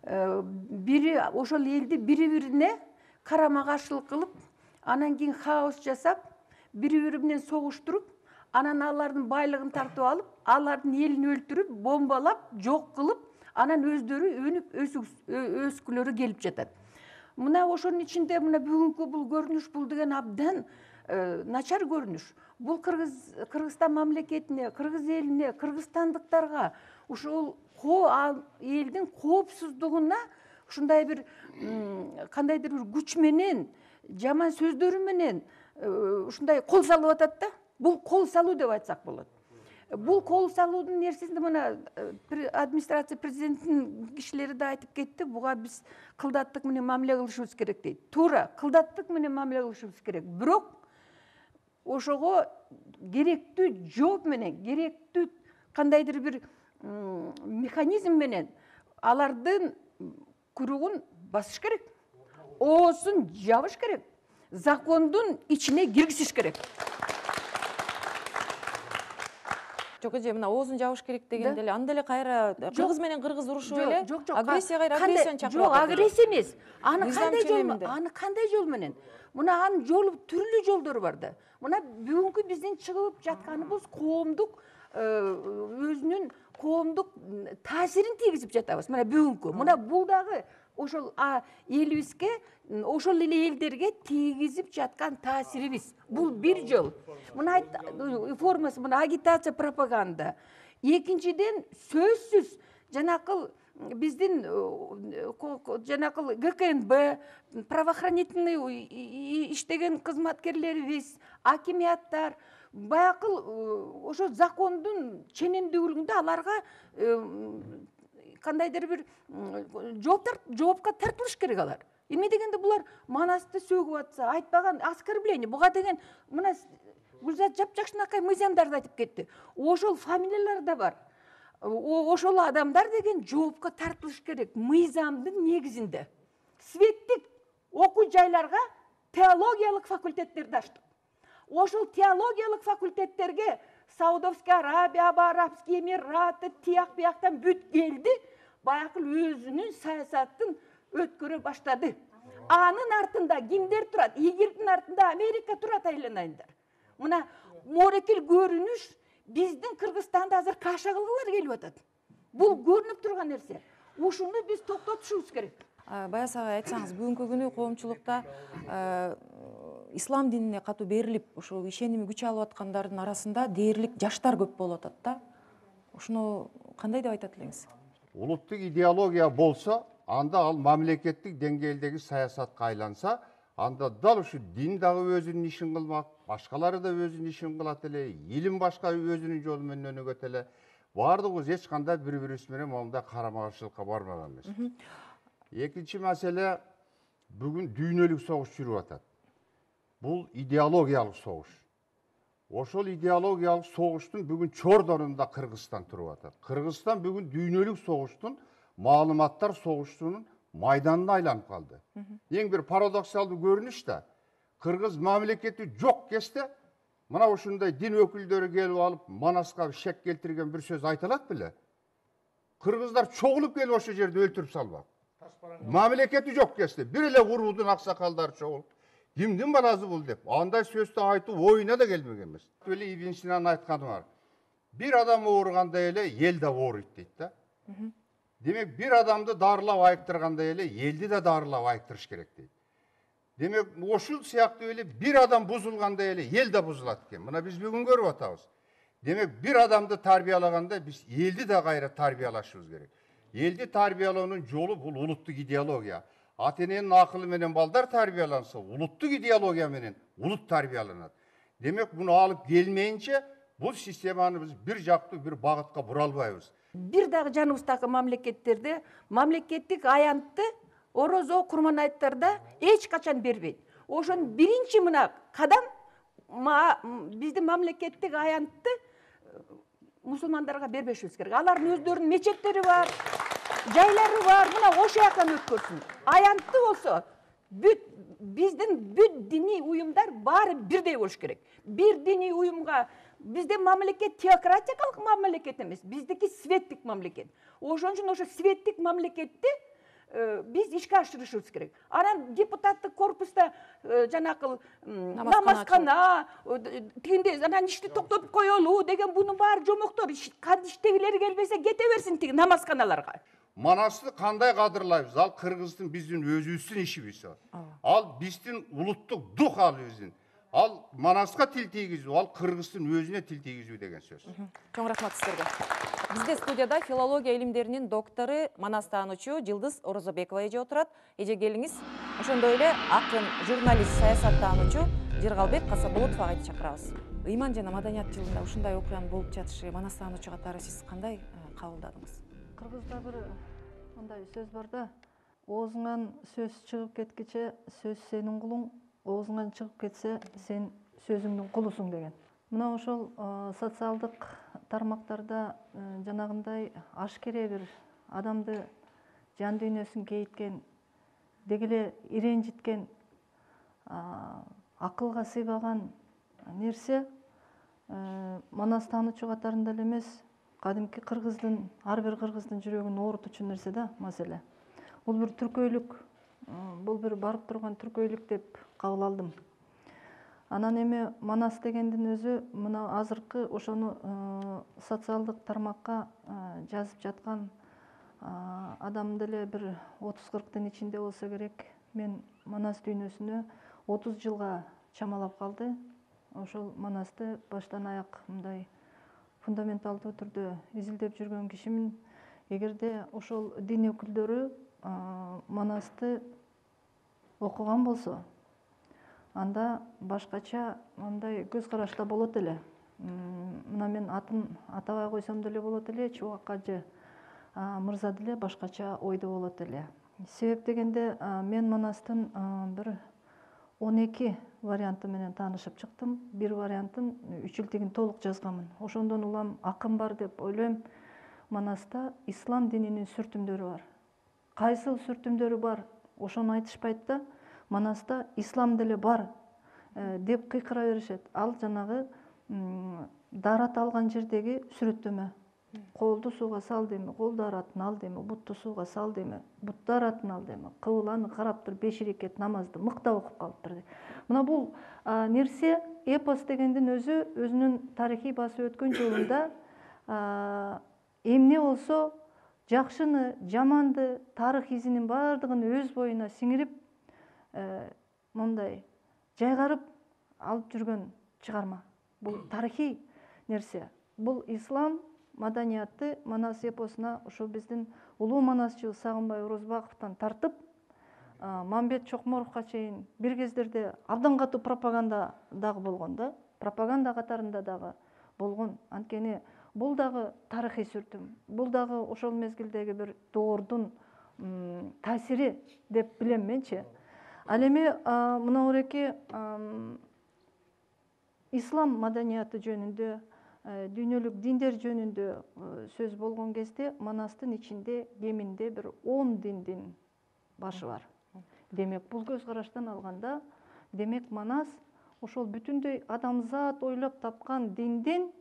Speaker 6: бири ошол элди бири-бирине карама каршылык кылып, анан кийин хаос жасап, бири-бири менен согуштуруп, анан алардын байлыгын тартып алып, алардын элин өлтүрүп, бомбалап, жок кылып, анан өздөрү өнүп өскүлөрү келип жатат. Мына ошонун ичинде мына бүгүнкү бул көрүнүш, бул деген абдан начар көрүнүш. Бул Кыргыз Кыргызстан мамлекетине, кыргыз элине, кыргызстандыктарга ушул элдин коопсуздугуна ушундай бир кандайдыр бир күч менен, жаман сөздөрү менен ушундай кол салып атат да. Бул кол салуу деп айтсак болот. Бул кол салуудун нерсесинде мына администрация президенттин кишилери да айтып кетти, буга биз кылдаттык менен мамиле кылышыбыз керек дейт. Туура, кылдаттык менен мамиле кылышыбыз керек. Бирок ошого керектүү жооп менен, керектүү кандайдыр бир механизм менен алардын куругун басыш керек. Оосун жабыш керек. Закондун ичине киргизиш керек.
Speaker 1: Жок эже, мына оозун жабыш керек деген деле, аны деле кайра кыргыз менен кыргыз урушуп эле, агрессия кайра агрессияны чакырып
Speaker 6: атат. Жок, агрессия эмес. Аны кандай жол, аны кандай жол менен? Мына анын жолу түрлүү жолдору бар да. Мына бүгүнкү биздин чыгып жатканыбыз коомдук өзүнүн коомдук таасирин тийгизип жатабыз. Мына бүгүнкү. Мына бул дагы ошол элибизге, ошол эле элдерге тийгизип жаткан таасирибиз. Бул бир жол. Мына формасы, мына агитация, пропаганда. Экинчиден, сөзсүз жанакыл биздин жанакыл гэ ка эн бэ, правоохранительный иштеген кызматкерлерибиз, акимияттар, баякыл ошо закондун ченемдүүлүгүндө аларга кандайдыр бир жоопко тартылыш керек алар. Эме дегенде булар Манасты сөгүп атса, айтпаган оскорбление. Буга деген мына Гүлзат Жапжакшынакай мыйзамдарды айтып кетти. Ошол фамилиялар да бар. Ошол адамдар деген жоопко тартылыш керек мыйзамдын негизинде. Светтик окуу жайларга теологиялык факультеттерди ачтык. Ошол теологиялык факультеттерге Саудовская Арабия, Арабский Эмираты, тияк бияктан бүт келди, баякыл өзүнүн саясатын өткөрө баштады. Анын артында кимдер турат? Игирдин артында Америка турат, айланайындар. Мына морекил көрүнүш биздин Кыргызстанда азыр каша кылгылар келип атат. Бул көрүнүп турган нерсе. Ушуну биз токтотушубуз керек.
Speaker 1: Баяс агай, айтсаңыз, бүгүнкү күнү коомчулукта ислам динине катуу берилип, ошол ишеними күч алып аткандардын арасында дээрлик жаштар көп болуп атат да. Ушуну кандай деп айтат элеңиз?
Speaker 7: Улуттук идеология болсо, анда ал мамлекеттик деңгээлдеги саясатка айланса, анда дал ушу дин дагы өзүнүн ишин кылмак, башкалары да өзүнүн ишин кылат эле, илим башка өзүнүн жолу менен өнүгөт эле. Бардыгыбыз эч кандай бири-бирибиз менен мондай карама-каршылыкка бармаган эмес. Экинчи маселе, бүгүн дүйнөлүк согуш жүрүп атат. Бул идеологиялык согуш. Ошол идеологиялык согуштун бүгүн чордонунда Кыргызстан туруп атат. Кыргызстан бүгүн дүйнөлүк согуштун, маалыматтар согуштунун майданына айланып калды. Эң бир парадоксалдуу көрүнүш да, кыргыз мамлекети жок кезде мына ушундай дин өкүлдөрү келип алып, Манаска шек келтирген бир сөз айта алат беле? Кыргыздар чогулуп келип ошол жерде өлтүрүп салбак. Мамлекети жок кезде бир эле уруудун аксакалдары чогулуп, кимдин баласы бул деп, андай сөздү айтуу оюна да келмеген эмес. Эле Ибн Синанын айтканы бар. Бир адам ооруганда эле эл да ооруйт дейт да. Демек, бир адамды дарылап айыктыргандай эле элди да дарылап айыктырыш керек дейт. Демек, ошол сыяктуу эле бир адам бузулгандай эле эл да бузулат экен. Мына биз бүгүн көрүп атабыз. Демек, бир адамды тарбиялаганда биз элди да кайра тарбиялашыбыз керек. Элди тарбиялоонун жолу бул улуттук идеология. Ата-эненин акылы менен балдар тарбияланса, улуттук идеология менен улут тарбияланат. Демек, буну алып келмейинче бул системаны биз бир жактуу бир багытка бура албайбыз.
Speaker 6: Бир дагы жаныбыздагы мамлекеттерде мамлекеттик аянтты орозо, курман айттарда эч качан бербейт. Ошон биринчи мына кадам биздин мамлекеттик аянтты мусулмандарга бербешибиз керек. Алардын өздөрүнүн мечеттери бар, жайлары бар, мына ошол жактан өткөрсүн. Аянтты болсо, бүт биздин бүт диний уюмдар баары бирдей болуш керек. Бир диний уюмга биздин мамлекет теократиялык мамлекет эмес, биздики светтик мамлекет. Ошон үчүн ошо светтик мамлекетти биз ишке ашырышыбыз керек. Анан депутаттык корпуста жанакы намазкана, тигинде анан ишти токтотуп коелу деген бунун баары жомоктор. Иштегилери келбесе кете берсин тиги намазканаларга.
Speaker 7: Манасты кандай кадырлайбыз? Ал Кыргыздын биздин өзүбүздүн ишибиз. Ал биздин улуттук дух ал биздин. Ал Манаска тил тийгизүү, ал Кыргыздын өзүнө тил тийгизүү деген сөз.
Speaker 1: Чоң рахмат сиздерге. Бизде студияда филология илимдеринин доктору, Манас таануучу Жылдыз Орозобекова эже отурат. Эже келиңиз. Ошондой эле акын, журналист, саясат таануучу Жыргалбек Касаболотов агайды чакырабыз. Ыйман жана маданият жылында ушундай окуянын болуп жатышы Манас таануучу катары сиз кандай кабылдадыңыз?
Speaker 8: Кыргызда бир мындай сөз бар да, оозуңан сөз чыгып кеткиче сөз сенин кулуң, оозуңан чыгып кетсе сен сөзүңдүн кулусуң деген. Мына ошол социалдык тармактарда жанагындай ашкере бир адамды жан дүйнөсүн кейиткен, дегеле иренжиткен, акылга сыйбаган нерсе Манас таануучу катарында эле эмес, кадимки кыргыздын, ар бир кыргыздын жүрөгүн оорутучу нерсе да маселе. Бул бир түркөйлүк, бул бир барып турган түркөйлүк деп кабыл алдым. Анан эми Манас дегендин өзү мына азыркы ошону социалдык тармакка жазып жаткан адам деле бир отуз кырктын ичинде болсо керек. Мен Манас дүйнөсүнө отуз жылга чамалап калды. Ошол Манасты баштан аяк мындай фундаменталдуу түрдө изилдеп жүргөн кишимин. Эгерде ошол дин өкүлдөрү Манасты окуган болсо, анда башкача мындай көз карашта болот эле. Мына мен атын атабай койсом деле болот эле, Чубак Кажы мырза деле башкача ойдо болот эле. Себеп дегенде мен Манастын бир он эки варианты менен таанышып чыктым. Бир вариантын үч жылтыгин толук жазганмын. Ошондон улам акын бар деп ойлойм. Манаста ислам дининин сүртүмдөрү бар. Кайсыл сүртүмдөрү бар? Ошону айтышпайт да. Манаста ислам деле бар деп кыйкыра беришет. Ал жанагы даарат алган жердеги сүрөттөмө. Колду сууга сал дейми, колду аратын ал дейми, бутту сууга сал дейми, бутту аратын ал дейми, кыбланы карап туруп беш рекет намазды мыктап окуп калыптыр дейт. Мына бул нерсе эпос дегендин өзү өзүнүн тарыхый басып өткөн жолунда эмне болсо жакшыны, жаманды, тарых изинин баардыгын өз боюна сиңирип, мындай жайгарып алып жүргөн чыгарма. Бул тарыхый нерсе. Бул ислам маданияты Манас эпосуна ошо биздин улуу манасчы Сагынбай Орозбаковдон тартып, Мамбет Чокморовго чейин бир кездерде абдан катуу пропаганда дагы болгон да, пропаганда катарында дагы болгон. Анткени бул дагы тарыхый сүртүм. Бул дагы ошол мезгилдеги бир доордун таасири деп билем менчи. Ал эми мына ореки ислам маданияты жөнүндө, дүйнөлүк диндер жөнүндө сөз болгон кезде Манастын ичинде кеминде бир он диндин башы бар. Демек, бул көз караштан алганда, демек Манас ошол бүтүндөй адамзат ойлоп тапкан диндин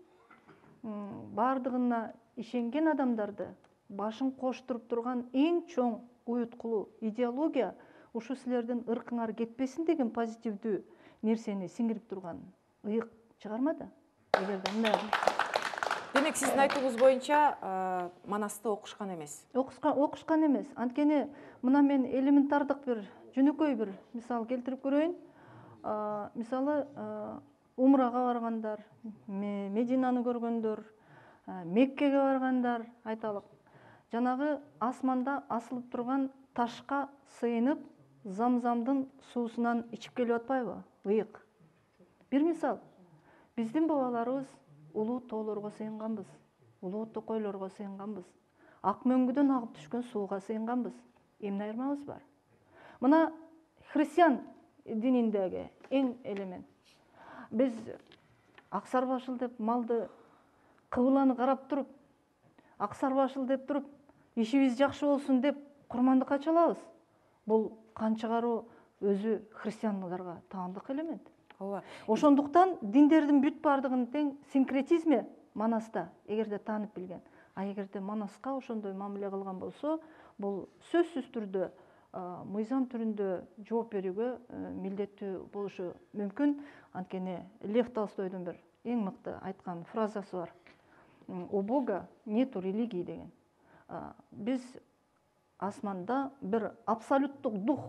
Speaker 8: баардыгына ишенген адамдарды башын коштуруп турган эң чоң уюткулуу идеология ушу силердин ыркыңар кетпесин деген позитивдүү нерсени сиңирип турган ыйык чыгарма да. Эгерде мындай
Speaker 1: демек сиздин айтууңуз боюнча Манасты окушкан эмес.
Speaker 8: Окушкан эмес. Анткени мына мен элементардык бир жөнөкөй бир мисал келтирип көрөйүн. Мисалы, умрага баргандар, Мединаны көргөндөр, Меккеге баргандар айталык. Жанагы асманда асылып турган ташка сыйынып, Замзамдын суусунан ичип келип атпайбы? Ыйык. Бир мисал. Биздин бабаларыбыз улуу тоолорго сыйынганбыз, улуу токойлорго сыйынганбыз, ак мөңгүдөн агып түшкөн сууга сыйынганбыз. Эмне айырмабыз бар? Мына христиан дининдеги эң элемент. Биз аксар башыл деп малды, кыбланы карап туруп, аксар башыл деп туруп, ишибиз жакшы болсун деп курмандыкка чалабыз. Бул канчыгаруу өзү христиандарга таандык элемент.
Speaker 1: Ооба.
Speaker 8: Ошондуктан диндердин бүт баардыгынын тең синкретизми Манаста эгерде таанып билген. А эгерде Манаска ошондой мамиле кылган болсо, бул сөзсүз түрдө мыйзам түрүндө жооп берүүгө милдеттүү болушу мүмкүн. Анткени Лев Толстойдун бир эң мыкты айткан фразасы бар. У Бога нету религии деген. Биз асманда бир абсолюттук дух,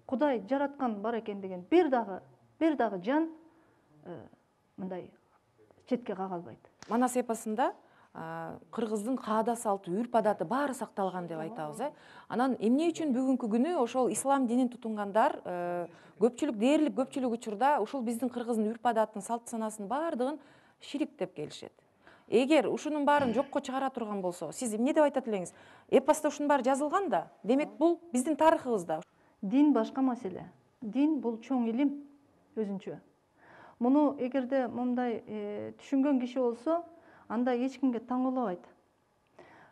Speaker 8: Кудай жараткан бар экен деген бир дагы бир дагы жан мындай четке кага албайт.
Speaker 1: Манас эпосунда кыргыздын каада салты, үрп адаты баары сакталган деп айтабыз, э. Анан эмне үчүн бүгүнкү күнү ошол ислам динин тутунгандар көпчүлүк, дээрлик көпчүлүк учурда ушул биздин кыргыздын үрп адатын, салт санасын баардыгын ширик деп келишет. Эгер ушунун баарын жокко чыгара турган болсо, сиз эмне деп айтат элеңиз? Эпоста ушунун баары жазылган да. Демек, бул биздин тарыхыбызда.
Speaker 8: Дин башка маселе. Дин бул чоң илим өзүнчө. Муну эгерде мындай түшүнгөн киши болсо, анда эч кимге таң калбайт.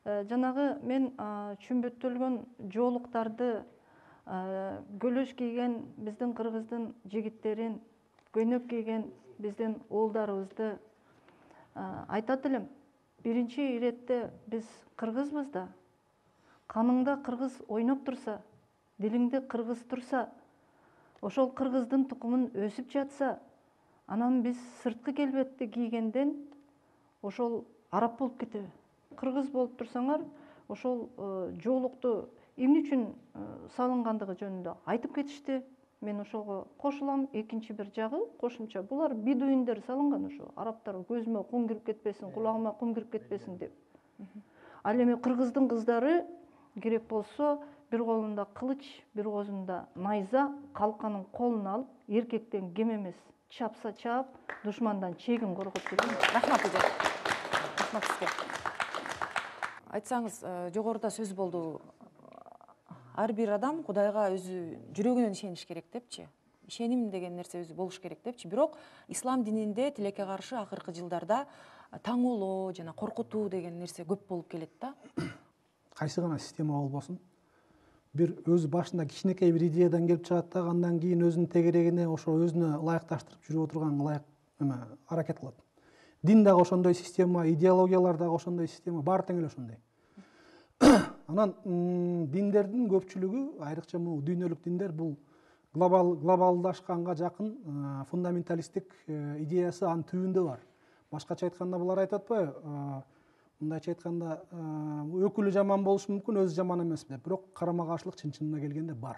Speaker 8: Жанагы мен чүмбөттөлгөн жоолуктарды, көлөш кийген биздин кыргыздын жигиттерин, көйнөк кийген биздин уулдарыбызды айтат элем. Биринчи иретте биз кыргызбыз да. Каныңда кыргыз ойноп турса, дилиңде кыргыз турса, ошол кыргыздын тукумун өсүп жатса, анан биз сырткы келбетти кийгенден ошол араб болуп кетеби? Кыргыз болуп турсаңар, ошол жоолукту эмне үчүн салынгандыгы жөнүндө айтып кетишти. Мен ошого кошулам. Экинчи бир жагы кошумча, булар бедуиндер салынган ошо. Арабтар көзүмө кум кирип кетпесин, кулагыма кум кирип кетпесин деп. Ал эми кыргыздын кыздары керек болсо, бир колунда кылыч, бир колунда найза, калканын колун алып, эркектен кем эмес, чапса чаап, душмандан чегин коргоп жүргөн.
Speaker 1: Рахмат эже. Рахмат сизге. Айтсаңыз, жогоруда сөз болду. Ар бир адам Кудайга өзү жүрөгүнөн ишениш керек депчи. Ишеним деген нерсе өзү болуш керек депчи. Бирок ислам дининде тилекке каршы акыркы жылдарда таңоолоо жана коркутуу деген нерсе көп болуп келет да.
Speaker 9: Кайсы гана система болбосун, бир өз башында кичинекей бир идеядан келип чыгат да, андан кийин өзүнүн тегерегине ошо өзүнө ылайыкташтырып жүрүп отурган ылайык эме аракет кылат. Дин дагы ошондой система, идеологиялар дагы ошондой система, баары тең эле ошондой. Анан диндердин көпчүлүгү, айрыкча бул дүйнөлүк диндер, бул глобал глобалдашканга жакын фундаменталисттик идеясы анын түбүндө бар. Башкача айтканда булар айтып атпайбы, мындайча айтканда өкүлү жаман болушу мүмкүн, өзү жаман эмес деп. Бирок карама каршылык чын чынына келгенде бар.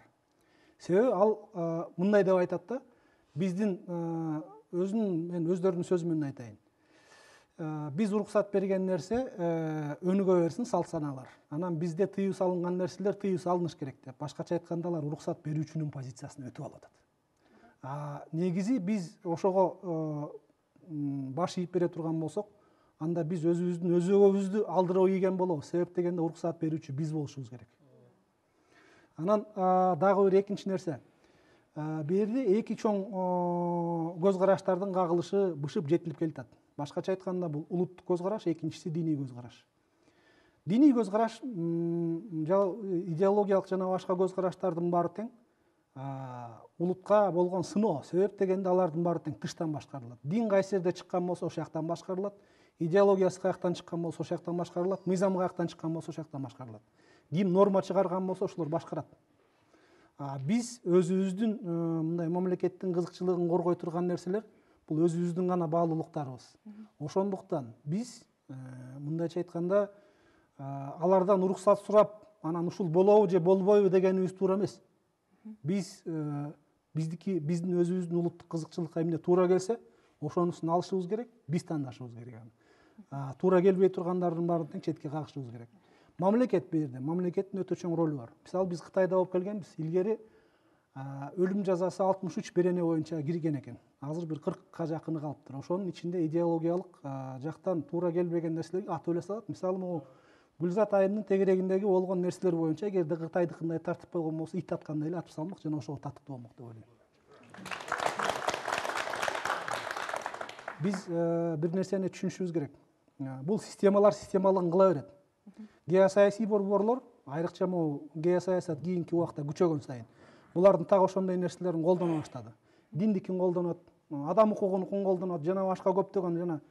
Speaker 9: Себеби ал мындай деп айтат да, биздин өзүнүн мен өздөрүнүн сөзү менен айтайын. Биз уруксат берген нерсе өнүгө берсин салт санаалар. Анан бизде тыюу салынган нерселер тыюу салыныш керек деп. Башкача айтканда алар уруксат берүүчүнүн позициясына өтүп алып атат. Негизи биз ошого баш ийип бере турган болсок, анда биз өзүбүздүн өзөгөбүздү алдырып ийген болобуз. Себеп дегенде уруксат берүүчү биз болушубуз керек. Анан дагы бир экинчи нерсе. Бул жерде эки чоң көз караштардын кагылышы бышып жетилип келатат. Башкача айтканда бул улуттук көз караш, экинчиси диний көз караш. Диний көз караш идеологиялык жана башка көз караштардын баары тең улутка болгон сыноо. Себеп дегенде алардын баары тең тыштан башкарылат. Дин кайсы жерде чыккан болсо ошол жактан башкарылат. Идеологиясы каяктан чыккан болсо ошол жактан башкарылат. Мыйзам каяктан чыккан болсо ошол жактан башкарылат. Ким норма чыгарган болсо ошолор башкарат. Биз өзүбүздүн мындай мамлекеттин кызыкчылыгын коргой турган нерселер бул өзүбүздүн гана баалуулуктарыбыз. Ошондуктан биз мындайча айтканда алардан уруксат сурап, анан ушул болобу же болбойбу дегенибиз туура эмес. Биз биздики биздин өзүбүздүн улуттук кызыкчылыкка эмне туура келсе, ошонусун алышыбыз керек, биз тандашыбыз керек. Туура келбей тургандардын баарын тең четке кагышыбыз керек. Мамлекет бу жерде, мамлекеттин өтө чоң ролу бар. Мисалы биз Кытайда болуп келгенбиз. Илгери өлүм жазасы алтымыш үч берене боюнча кирген экен. Азыр бир кыркка жакыны калыптыр. Ошонун ичинде идеологиялык жактан туура келбеген нерселерге атып эле салат. Мисалы могу Гүлзат айымдын тегерегиндеги болгон нерселер боюнча эгерде Кытайдыкындай тартып койгон болсо, ит аткандай эле атып салмак жана ошого татыктуу болмок деп ойлойм. Биз бир нерсени түшүнүшүбүз керек. Бул системалар системалыгын кыла берет. Геосаясий борборлор, айрыкча могу геосаясат кийинки убакта күчөгөн сайын, булардын так ошондой нерселерин колдоно баштады. Диндикин колдонот, адам укугунукун колдонот, жана башка көптөгөн жана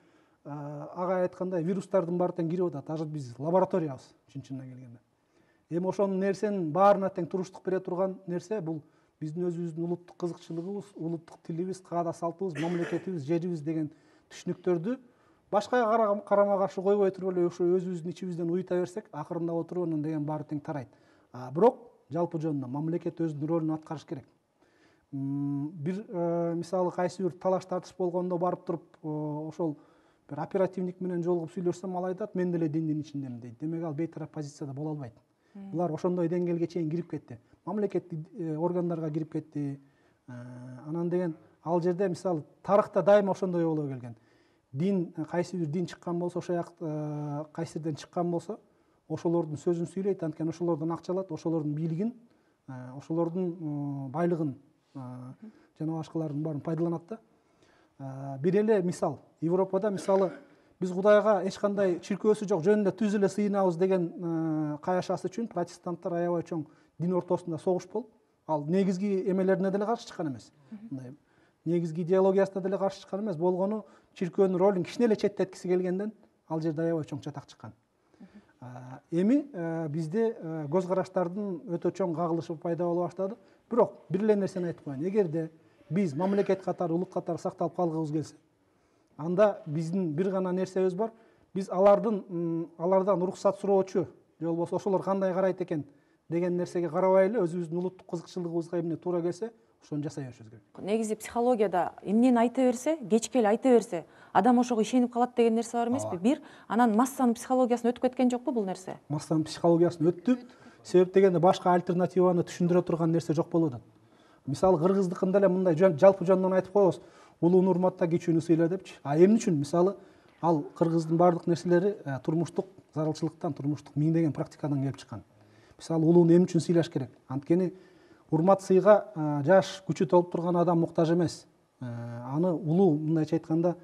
Speaker 9: ага айткандай вирустардын баары тең кирип атат. Азыр биз лабораториябыз чын чынына келгенде. Эми ошонун нерсенин баарына тең туруштук бере турган нерсе бул биздин өзүбүздүн улуттук кызыкчылыгыбыз, улуттук тилибиз, каада салтыбыз, мамлекетибиз, жерибиз деген түшүнүктөрдү башкага карама каршы койбой туруп эле ошо өзүбүздүн ичибизден уюта берсек, акырында отуруп анан деген баары тең тарайт. Бирок жалпы жөнүндө мамлекет өзүнүн ролун аткарыш керек. Бир мисалы кайсы бир талаш тартыш болгондо барып туруп ошол бир оперативник менен жолугуп сүйлөшсөм, ал айтат, мен деле диндин ичиндемин дейт. Демек ал бейтарап позицияда боло албайт. Булар ошондой деңгээлге чейин кирип кетти. Мамлекеттик органдарга кирип кетти. Анан деген ал жерде мисалы тарыхта дайыма ошондой боло келген. Дин, кайсы бир дин чыккан болсо, ошол жакта кайсы жерден чыккан болсо, ошолордун сөзүн сүйлөйт, анткени ошолордон акча алат, ошолордун бийлигин, ошолордун байлыгын жана башкалардын баарын пайдаланат да. Бир эле мисал, Европада мисалы биз Кудайга эч кандай чиркөөсү жок, жөнүндө түз эле сыйынабыз деген каяшасы үчүн протестанттар аябай чоң дин ортосунда согуш болуп, ал негизги эмелерине деле каршы чыккан эмес. Мындай негизги идеологиясына деле каршы чыккан эмес, болгону чиркөөнүн ролун кичине эле четтеткиси келгенден ал жерде аябай чоң чатак чыккан. Эми бизде көз караштардын өтө чоң кагылышы пайда боло баштады. Бирок бир эле нерсени айтып коеюн. Эгерде биз мамлекет катары, улут катары сакталып калгыбыз келсе, анда биздин бир гана нерсебиз бар. Биз алардын алардан уруксат суроочу, же болбосо ошолор кандай карайт экен деген нерсеге карабай эле өзүбүздүн улуттук кызыкчылыгыбызга эмне туура келсе, ошону жасай беришибиз керек.
Speaker 1: Негизи психологияда эмнени айта берсе, кечке эле айта берсе, адам ошого ишенип калат деген нерсе бар эмеспи? Бир, анан массанын психологиясына өтүп кеткен жокпу бул нерсе?
Speaker 9: Массанын психологиясына өттү. Себеп дегенде башка альтернативаны түшүндүрө турган нерсе жок болуп атат. Мисалы кыргыздыкында эле мындай жалпы жөндөн айтып коебуз, улууну урматта, кичүүнү сыйла депчи. А эмне үчүн? Мисалы ал кыргыздын баардык нерселери турмуштук зарылчылыктан, турмуштук миңдеген практикадан келип чыккан. Мисалы улууну эмне үчүн сыйлаш керек? Анткени урмат сыйга жаш, күчү толуп турган адам муктаж эмес. Аны улуу, мындайча айтканда,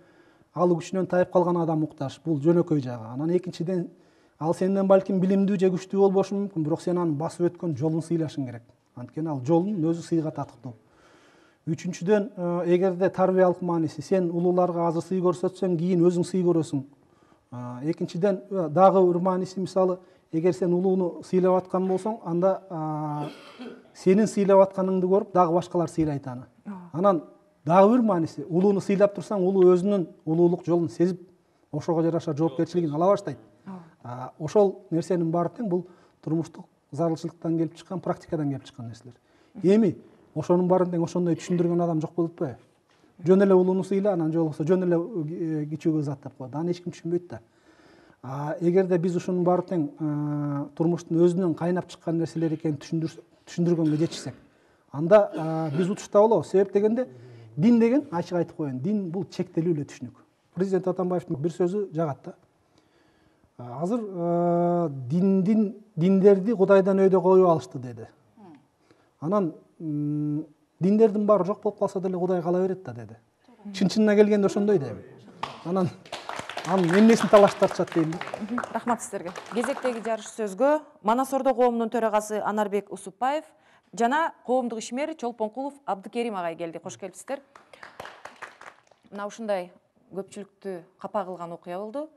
Speaker 9: алуу күчүнөн тайып калган адам муктаж. Бул жөнөкөй жагы. Анан экинчиден, ал сенден балким билимдүү же күчтүү болбошу мүмкүн, бирок сен аны басып өткөн жолун сыйлашың керек. Анткени ал жолдун өзү сыйга татыктуу. үчүнчүдөн эгерде тарбиялык мааниси, сен улууларга азыр сый көрсөтсөң, кийин өзүң сый көрөсүң. Экинчиден дагы бир мааниси, мисалы, эгер сен улууну сыйлап аткан болсоң, анда сенин сыйлап атканыңды көрүп дагы башкалар сыйлайт аны. Анан дагы бир мааниси, улууну сыйлап турсаң, улуу өзүнүн улуулук жолун сезип, ошого жараша жоопкерчилигин ала баштайт. Ошол нерсенин баары тең бул турмуштук зарылчылыктан келип чыккан, практикадан келип чыккан нерселер. Эми ошонун баарын тең ошондой түшүндүргөн адам жок болуп атпайбы? Жөн эле улууну сыйла, анан же болбосо жөн эле кичүүгө зат деп коет. Аны эч ким түшүнбөйт да. Эгерде биз ушунун баары тең турмуштун өзүнөн кайнап чыккан нерселер экенин түшүндүргөнгө жетишсек, анда биз утушта болобуз. Себеп дегенде, дин деген, ачык айтып коеюн, дин бул чектелүү эле түшүнүк. Президент Атамбаевдин бир сөзү жагат да. Азыр диндин диндерди Кудайдан өйдө коюп алышты деди. Анан диндердин баары жок болуп калса деле Кудай кала берет да деди. Чын-чынына келгенде ошондой дейм. Анан анын эмнесин талаш тартышат дейм.
Speaker 1: Рахмат сиздерге. Кезектеги жарыш сөзгө Манас Ордо коомунун төрагасы Анарбек Усупбаев жана коомдук ишмер Чолпонкулов Абдыкерим агай келди. Кош келипсиздер. Мына ушундай көпчүлүктү капа кылган окуя болду.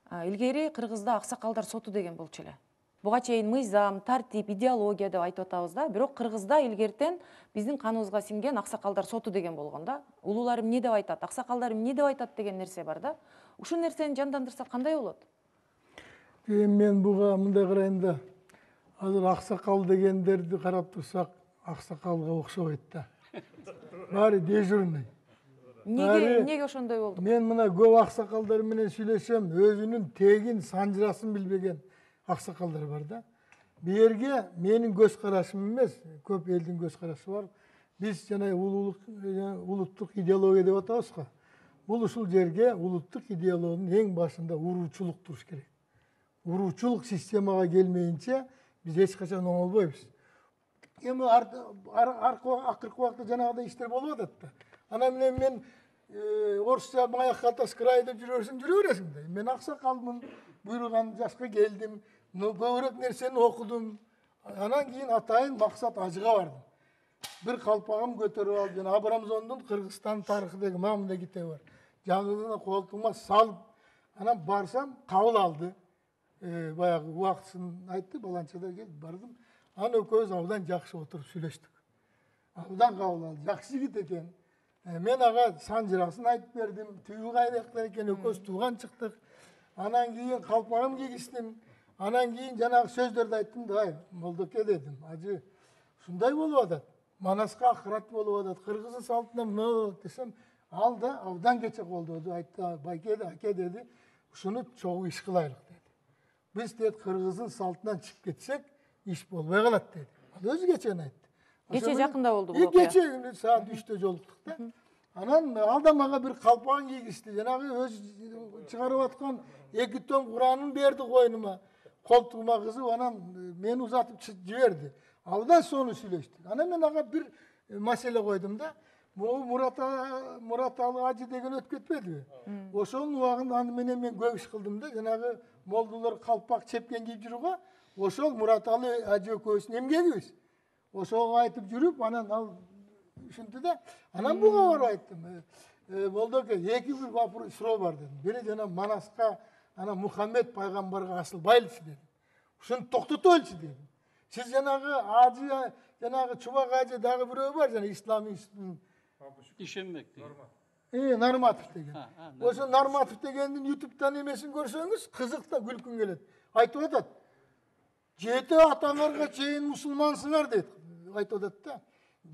Speaker 1: Илгери Кыргызда аксакалдар соту деген болчу эле. Буга чейин мыйзам, тартип, идеология деп айтып атабыз да. Бирок Кыргызда илгертен биздин каныбызга сиңген аксакалдар соту деген болгон да. Улуулар эмне деп айтат, аксакалдар эмне деп айтат деген нерсе бар да. Ушул нерсени жандандырсак кандай болот?
Speaker 10: Мен буга мындай карайм да. Азыр аксакал дегендерди карап турсак, аксакалга окшобойт да. Баары дежурный.
Speaker 1: Неге неге ошондой болду?
Speaker 10: Мен мына көп аксакалдар менен сүйлөшөм, өзүнүн тегин, санжырасын билбеген аксакалдар бар да. Бу жерге менин көз карашым эмес, көп элдин көз карашы бар. Биз жана улуулук, улуттук идеология деп атабыз го. Бул ушул жерге улуттук идеологиянын эң башында уруучулук туруш керек. Уруучулук системага келмейинче биз эч качан оңолбойбуз. Эми акыркы убакта жанагыдай иштер болуп атат да. Анан менен мен орусча маяк калтасы край деп жүрө берсең, жүрө бересиң да. Мен аксакалмын, буйруган жашка келдим, көбүрөөк нерсени окудум. Анан кийин атайын максат ажыга бардым. Бир калпагым көтөрүп алып, жана Абрамзондун Кыргызстан тарыхы деген мындай китеби бар. Жаңылына колтума салып, анан барсам кабыл алды. Баягы убактысын айтты, баланчада келип бардым. Анан экөөбүз абдан жакшы отуруп сүйлөштүк. Абдан кабыл алды, жакшы жигит экен. Мен ага санжырасын айтып бердим, түйүү кайдактар экен, экөөбүз тууган чыктык. Анан кийин калпагым кийгиздим. Анан кийин жанагы сөздөрдү айттым да, Молдоке дедим. Ажы, ушундай болуп атат. Манаска акырат болуп атат. Кыргыздын салтына мына десем, ал да абдан кече колдоду, айтты, байке аке деди, ушуну чогуу иш кылайлык деди. Биз дет Кыргыздын салтынан чыгып кетсек, иш болбой калат деди. Ал өзү кечен айтты.
Speaker 1: Кече жакында болду бул.
Speaker 10: Кече саат үчтө жолуктук да. Анан ал да мага бир калпагын кийгизди. Жанагы өз чыгарып аткан эки том Куранын берди койнума. Колтугума кызып, анан мени узатып жиберди. Абдан сону сүйлөштүк. Анан мен ага бир маселе койдум да. Могу Мураталы ажы деген өтүп кетпедиби? Ошонун убагында аны менен мен көп иш кылдым да. Жанагы молдулар калпак чепкен кийип жүрүүгө, ошол Мураталы ажы экөөбүздүн эмгегибиз. Ошого айтып жүрүп, анан ал ушинти да. Анан буга барып айттым. Молдоке, эки бир вопрос суроо бар дедим. Бири жана Манаска, анан Мухаммед пайгамбарга асылбайлычы дедим. Ушуну токтотойлучу дедим. Сиз жанагы ажы, жанагы Чубак ажы дагы бирөө бар, жана ислам институтунун
Speaker 11: Ишенбек деген.
Speaker 10: Э, Нарматов деген. Ошо Нарматов дегендин ютубтан эмесин көрсөңүз, кызык да, күлкүң келет. Айтып атат. Жети атаңарга чейин мусулмансыңар дейт. Айтып атат да.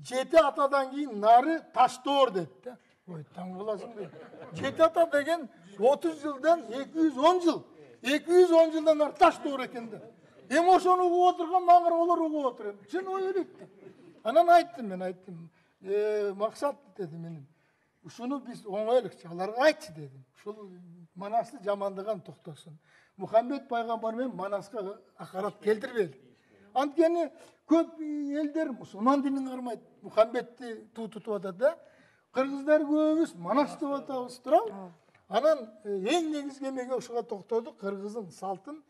Speaker 10: Жети атадан кийин нары Таштоор дейт да. Ой, таң каласың дейт. Жети ата деген отуз жылдан эки жүз он жыл. эки жүз он жылдан нары Таштоор экен да. Эми ошону угуп отурган маңыр олар угуп отур. Чын ой элек да. Анан айттым, мен айттым. Э, максат дедим мен. Ушуну биз оңойлукчу, аларга айтчы дедим. Ушул Манасты жамандаган токтосун. Мухаммед пайгамбар менен Манаска акарат келтирбели. Анткени көп элдер мусулман динин кармайт. Мухаммедти туу тутуп атат да. Кыргыздар көбүбүз Манас деп атабыз, туурабы? Анан эң негизги эмеге ушуга токтодук, кыргыздын салтын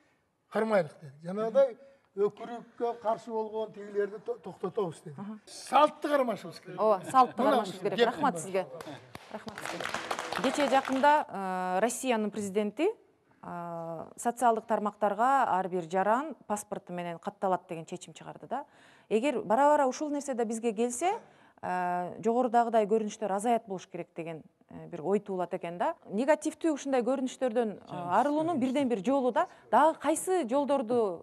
Speaker 10: кармайлык деди. Жанагыдай өкүрүккө каршы болгон тигилерди токтотобуз деди. Салтты кармашыбыз керек.
Speaker 1: Ооба, салтты кармашыбыз керек. Рахмат сизге. Рахмат сизге. Кечээ жакында Россиянын президенти социалдык тармактарга ар бир жаран паспорту менен катталат деген чечим чыгарды да. Эгер бара-бара ушул нерсе да бизге келсе, жогорудагыдай көрүнүштөр азаят болуш керек деген бир ой туулат экен да. Негативдүү ушундай көрүнүштөрдөн арылуунун бирден бир жолу да дагы кайсы жолдорду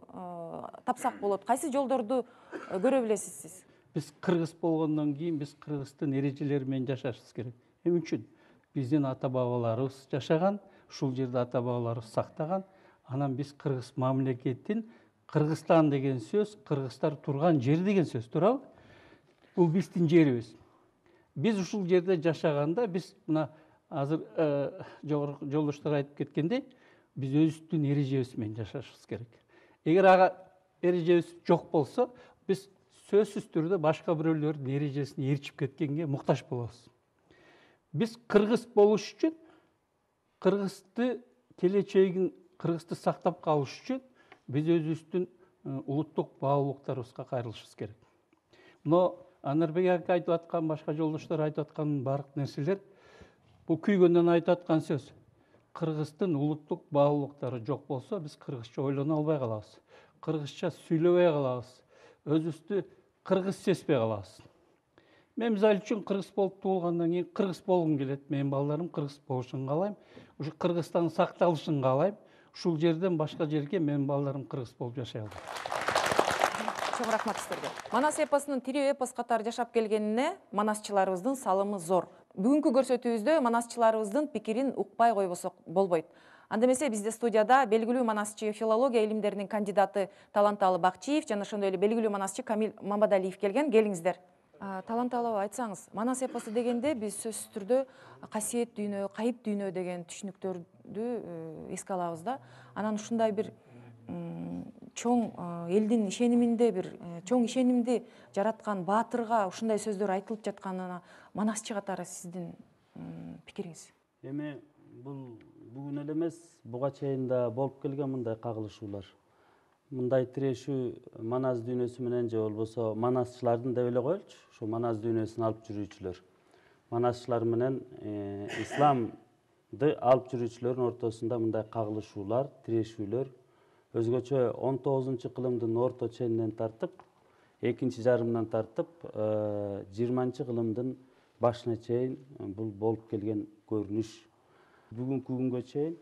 Speaker 1: тапсак болот, кайсы жолдорду көрө билесиз сиз?
Speaker 11: Биз кыргыз болгондон кийин биз кыргыздын эрежелери менен жашашыбыз керек. Эмне үчүн? Биздин ата-бабаларыбыз жашаган, ушул жерде ата-бабаларыбыз сактаган. Анан биз кыргыз мамлекетин, Кыргызстан деген сөз, кыргыздар турган жер деген сөз, туурабы? Бул биздин жерибиз. Биз ушул жерде жашаганда, биз мына азыр жогорку жолдоштор айтып кеткендей, биз өзүбүздүн эрежебиз менен жашашыбыз керек. Эгер ага эрежебиз жок болсо, биз сөзсүз түрдө башка бирөөлөрдүн эрежесине ээрчип кеткенге муктаж болобуз. Биз кыргыз болуш үчүн, кыргызды келечегин, кыргызды сактап калыш үчүн биз өзүбүздүн улуттук баалуулуктарыбызга кайрылышыбыз керек. Мына Анарбек ака айтып аткан, башка жолдоштор айтып аткан бардык нерселер бул күйгөндөн айтып аткан сөз. Кыргыздын улуттук баалуулуктары жок болсо, биз кыргызча ойлоно албай калабыз. Кыргызча сүйлөбөй калабыз. Өзүбүздү кыргыз сезбей калабыз. Мен мисалы үчүн кыргыз болуп туулгандан кийин кыргыз болгум келет. Менин балдарым кыргыз болушун каалайм. Ушу Кыргызстандын сакталышын каалайм. Ушул жерден башка жерге менин балдарым кыргыз болуп жашай албайт.
Speaker 1: Чоң рахмат сиздерге. Манас эпосунун тирүү эпос катары жашап келгенине манасчыларыбыздын салымы зор. Бүгүнкү көрсөтүүбүздө манасчыларыбыздын пикирин укпай койбосок болбойт. Анда эмесе бизде студияда белгилүү манасчы, филология илимдеринин кандидаты Таланталы Бакчиев жана ошондой эле белгилүү манасчы Камил Мамадалиев келген. Келиңиздер. Таланталы айтсаңыз, манас эпосу дегенде биз сөзсүз түрдө касиет дүйнө, кайып дүйнө деген түшүнүктөрдү эске алабыз да. Анан ушундай бир чоң элдин ишениминде бир чоң ишенимди жараткан баатырга ушундай сөздөр айтылып жатканына манасчы катары сиздин пикириңиз?
Speaker 5: Эми бул бүгүн эле эмес, буга чейин да болуп келген мындай кагылышуулар. Мындай тирешүү манас дүйнөсү менен же болбосо манасчылардын деп эле коелучу, ушу манас дүйнөсүн алып жүрүүчүлөр. Манасчылар менен исламды алып жүрүүчүлөрдүн ортосунда мындай кагылышуулар, тирешүүлөр өзгөчө он тогузунчу кылымдын орто ченинен тартып, экинчи жарымынан тартып, жыйырманчы кылымдын башына чейин бул болуп келген көрүнүш. Бүгүнкү күнгө чейин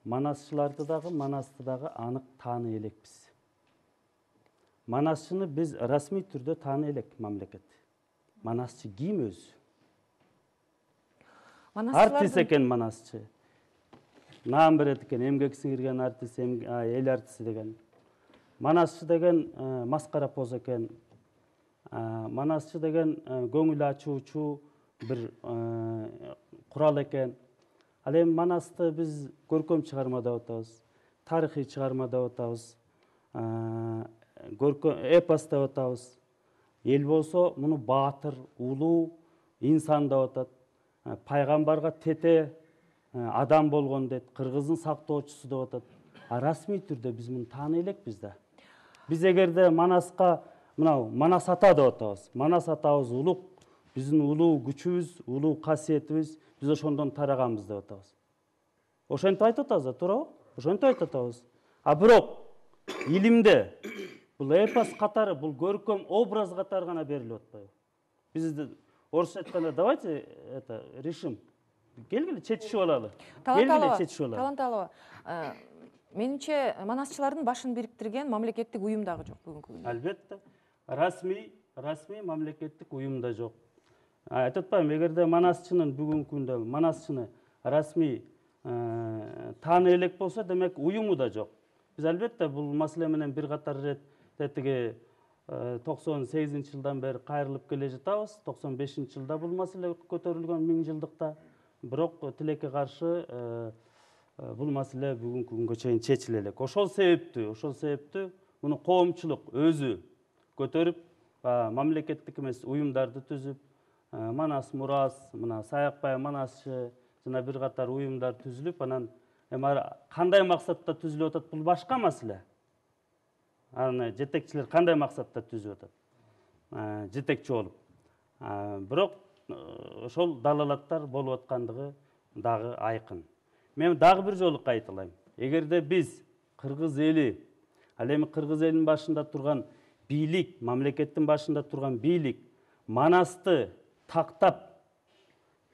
Speaker 5: манасчыларды дагы, манасты дагы анык тааный элекпиз. Манасчыны биз расмий түрдө тааный элек мамлекет. Манасчы ким өзү? Артист экен манасчы. Наам берет экен, эмгек сиңирген артист, эл артисти деген. Манасчы деген маскара поз экен. Манасчы деген көңүл ачуучу бир курал экен. Ал эми манасты биз көркөм чыгарма деп атабыз, тарыхый чыгарма деп атабыз, эпос деп атабыз. Эл болсо муну баатыр, улуу инсан деп атат. Пайгамбарга тете адам болгон дейт, кыргыздын сактоочусу деп атат. А расмий түрдө биз муну тааный элекпиз да. Биз эгерде Манаска мынау Манас ата деп атабыз. Манас атабыз улук, биздин улуу күчүбүз, улуу касиетибиз, биз ошондон тараганбыз деп атабыз. Ошентип айтып атабыз да, туурабы? Ошентип айтып атабыз. А бирок илимде бул эпос катары, бул көркөм образ катары гана берилип атпайбы? Биз орусча айтканда давайте это решим. Келгиле чечишип алалы. Келгиле чечишип алалы.
Speaker 1: Таланталова, менимче манасчылардын башын бириктирген мамлекеттик уюм дагы жок бүгүнкү күндө.
Speaker 5: Албетте. Расмий, расмий мамлекеттик уюм да жок. Айтып атпаймынбы, эгерде манасчынын бүгүнкү күндө манасчыны расмий тааный элек болсо, демек уюму да жок. Биз албетте бул маселе менен бир катар ирет тетиги токсон сегизинчи жылдан бери кайрылып келе жатабыз. токсон бешинчи жылда бул маселе көтөрүлгөн миң жылдыкта. Бирок тилекке каршы бул маселе бүгүнкү күнгө чейин чечиле элек. Ошол себептүү, ошол себептүү муну коомчулук өзү көтөрүп, мамлекеттик эмес уюмдарды түзүп, Манас Мурас, мына Саякбай Манасчы жана бир катар уюмдар түзүлүп, анан эми кандай максатта түзүлүп атат, бул башка маселе.
Speaker 12: аны жетекчилер кандай максатта түзүп атат? Жетекчи болуп. Бирок ошол далалаттар болуп аткандыгы дагы айкын. Мен дагы бир жолу кайталайм. Эгерде биз кыргыз эли, ал эми кыргыз элинин башында турган бийлик, мамлекеттин башында турган бийлик Манасты тактап,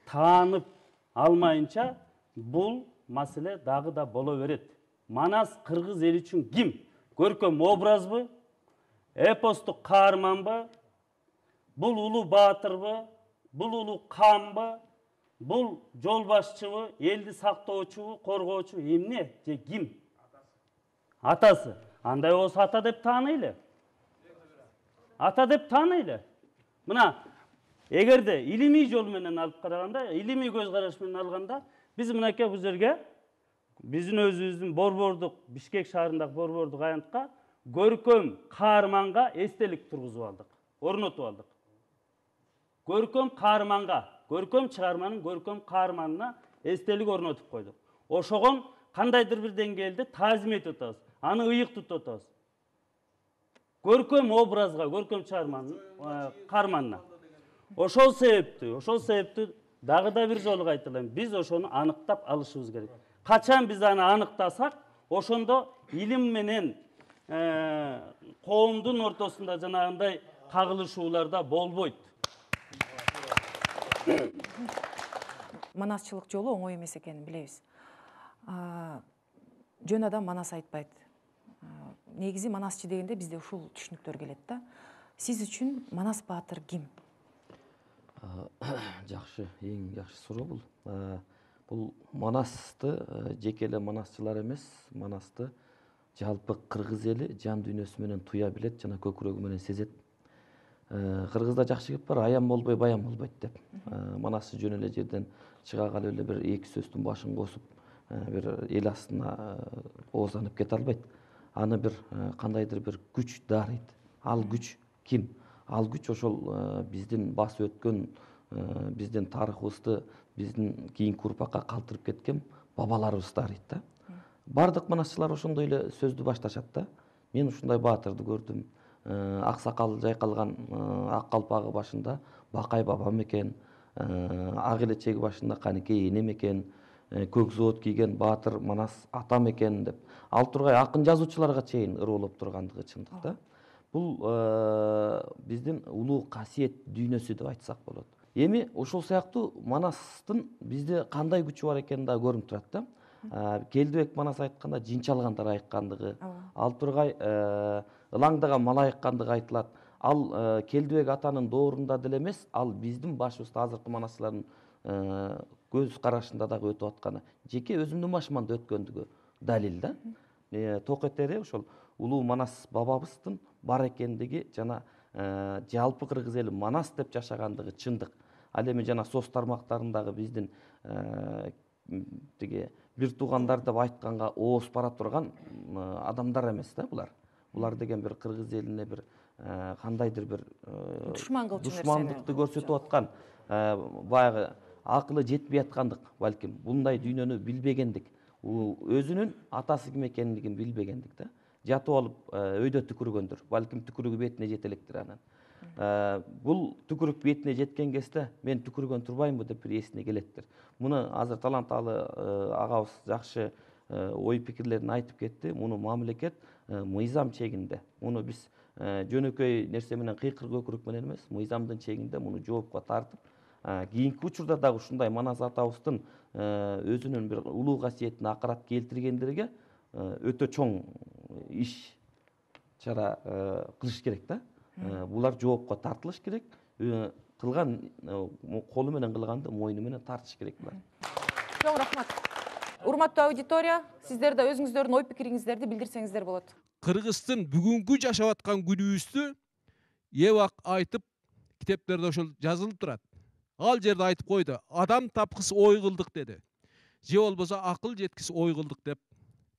Speaker 12: таанып алмайынча бул маселе дагы да боло берет. Манас кыргыз эли үчүн ким? Көркөм образбы? Эпостук каарманбы? Бул улуу баатырбы? Бул улуу камбы? Бул жол башчыбы? Элди сактоочубу, коргоочу? Эмне же ким? Атасы. Андай болсо ата деп тааныйлы. Ата деп тааныйлы. Мына, эгерде илимий жол менен алып караганда, илимий көз караш менен алганда, биз мынакей бул жерге биздин өзүбүздүн Борбордук, Бишкек шаарындагы Борбордук аянтка көркөм каарманга эстелик тургузуп алдык, орнотуп алдык. Көркөм каарманга, көркөм чыгарманын көркөм каарманына эстелик орнотуп койдук. Ошогон кандайдыр бир деңгээлде таазим этип атабыз, аны ыйык тутуп атабыз. Көркөм образга, көркөм чыгарманын каарманына. Ошол себептүү, ошол себептүү дагы да бир жолу кайталайм. Биз ошону аныктап алышыбыз керек. Качан биз аны аныктасак, ошондо илим менен коомдун ортосунда жанагындай кагылышууларда болбойт.
Speaker 1: Манасчылык жолу оңой эмес экенин билебиз. Жөн адам манас айтпайт. Негизи манасчы дегенде бизде ушул түшүнүктөр келет да. Сиз үчүн Манас баатыр ким?
Speaker 13: Жакшы, эң жакшы суроо бул. Бул Манасты жеке эле манасчылар эмес, Манасты жалпы кыргыз эли жан дүйнөсү менен туя билет жана көкүрөгү менен сезет. Кыргызда жакшы кеп бар, аян болбой баян болбойт деп. Манасчы жөн эле жерден чыга калып эле бир эки сөздүн башын косуп, бир эл астына оозданып кете албайт. Аны бир кандайдыр бир күч дарыйт. Ал күч ким? Ал күч ошол биздин басып өткөн, биздин тарыхыбызды биздин кийинки урпакка калтырып кеткен бабаларыбыз дарыйт да. Бардык манасчылар ошондой эле сөздү башташат да. Мен ушундай баатырды көрдүм. Ак сакал жайкалган ак калпагы башында Бакай бабам экен, ак элечеги башында Канекей энем экен, көк зоот кийген баатыр Манас атам экен деп. Ал тургай акын жазуучуларга чейин ыроолоп тургандыгы чындык да. Бул биздин улуу касиет дүйнөсү деп айтсак болот. Эми ошол сыяктуу Манастын бизде кандай күчү бар экени да көрүнүп турат да. Келдибек Манас айтканда жинчалгандар айткандыгы, ал тургай ылаңдаган малайыккандыгы айтылат. Ал Келдибек атанын доорунда деле эмес, ал биздин башыбызда азыркы манасчылардын көз карашында дагы өтүп атканы. Жеке өзүмдүн башыман да өткөндүгү далил да. Токетери ошол улуу Манас бабабыздын бар экендиги жана жалпы кыргыз эли Манас деп жашагандыгы чындык. Ал эми жана соц тармактарындагы биздин тиги бир туугандар деп айтканга ооз бара турган адамдар эмес да булар. Булар деген бир кыргыз элине бир кандайдыр бир душмандыкты көрсөтүп аткан, баягы акылы жетпей аткандык, балким мындай дүйнөнү билбегендик, өзүнүн атасы ким экендигин билбегендик да. Жатып алып өйдө түкүргөндүр, балким түкүрүгү бетине жете электир анан. Бул түкүрүк бетине жеткен кезде мен түкүргөн турбаймбы деп бир эсине келеттир. Муну азыр таланталы агабыз жакшы ой пикирлерин айтып кетти. Муну мамлекет мыйзам чегинде, муну биз жөнөкөй нерсе менен кыйкыр көкүрөк менен эмес, мыйзамдын чегинде муну жоопко тартып, кийинки учурда дагы ушундай Манас атабыздын өзүнүн бир улуу касиетине акарат келтиргендерге өтө чоң иш чара кылыш керек да. Булар жоопко тартылыш керек. Кылган колу менен кылганды мойну менен тартыш керек булар.
Speaker 1: Чоң рахмат. Урматтуу аудитория, сиздер да өзүңүздөрдүн ой пикириңиздерди билдирсеңиздер болот.
Speaker 14: Кыргыздын бүгүнкү жашап аткан күнүбүздү эбак айтып, китептерде ошол жазылып турат. Ал жерде айтып койду, адам тапкыс ой кылдык деди. Же болбосо акыл жеткис ой кылдык деп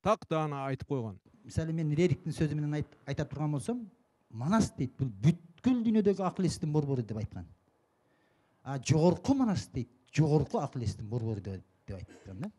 Speaker 14: так даана айтып койгон.
Speaker 15: Мисалы мен Рериктин сөзү менен айта турган болсом, Манас дейт, бул бүткүл дүйнөдөгү акыл эстин борбору деп айткан. А жогорку Манас дейт, жогорку акыл эстин борбору деп айткан да.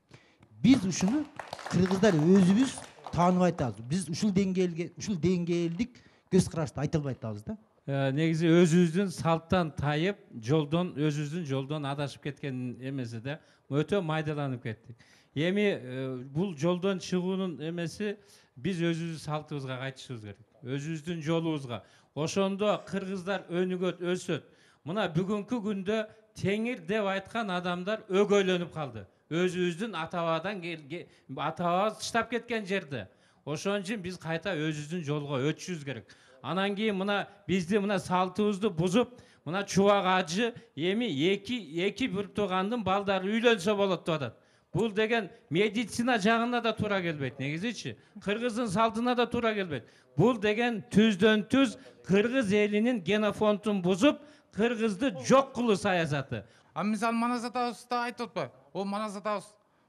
Speaker 15: Биз ушуну кыргыздар өзүбүз тааныбай атабыз. Биз ушул деңгээлге, ушул деңгээлдик көз карашты айта албай атабыз да.
Speaker 11: Негизи өзүбүздүн салттан тайып, жолдон өзүбүздүн жолдон адашып кеткен эмеси да өтө майдаланып кеттик. Эми бул жолдон чыгуунун эмеси биз өзүбүздүн салтыбызга кайтышыбыз керек. Өзүбүздүн жолубузга. Ошондо кыргыздар өнүгөт, өсөт. Мына бүгүнкү күндө теңир деп айткан адамдар өгөйлөнүп калды. Өзүбүздүн ата-бабадан ата-бабабыз таштап кеткен жерде. Ошон үчүн биз кайта өзүбүздүн жолго өтүшүбүз керек. Анан кийин мына бизди мына салтыбызды бузуп, мына чубак ажы эми эки эки бир туугандын балдары үйлөнсө болот деп атат. Бул деген медицина жагына да туура келбейт, негизичи. Кыргыздын салтына да туура келбейт. Бул деген түздөн түз кыргыз элинин генофондун бузуп, кыргызды жок кылуу саясаты.
Speaker 16: А мисалы Манас атабыз да айтып атпайбы? О Манас атабыз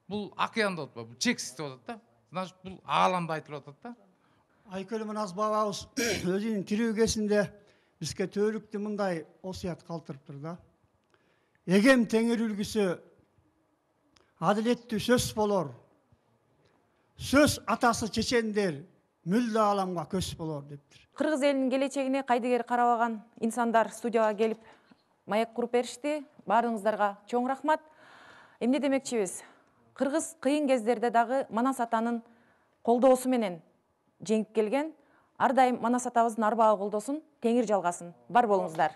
Speaker 16: бул океан деп атпайбы? Бул чексиз деп атат да. Значит, бул ааламда айтылып атат да.
Speaker 17: Айкөл Манас бабабыз өзүнүн тирүү кезинде бизге төөлүктү мындай осуят калтырыптыр да. Эгем теңир үлгүсү адилеттүү сөз болор. Сөз атасы чечендер мүлдө ааламга көз болор дептир.
Speaker 1: Кыргыз элинин келечегине кайдыгер карабаган инсандар студияга келип маек куруп беришти. Баарыңыздарга чоң рахмат. Эмне демекчибиз? Кыргыз кыйын кездерде дагы Манас атанын колдоосу менен жеңип келген. Ар дайым Манас атабыздын арбагы колдосун, теңир жалгасын. Бар болуңуздар.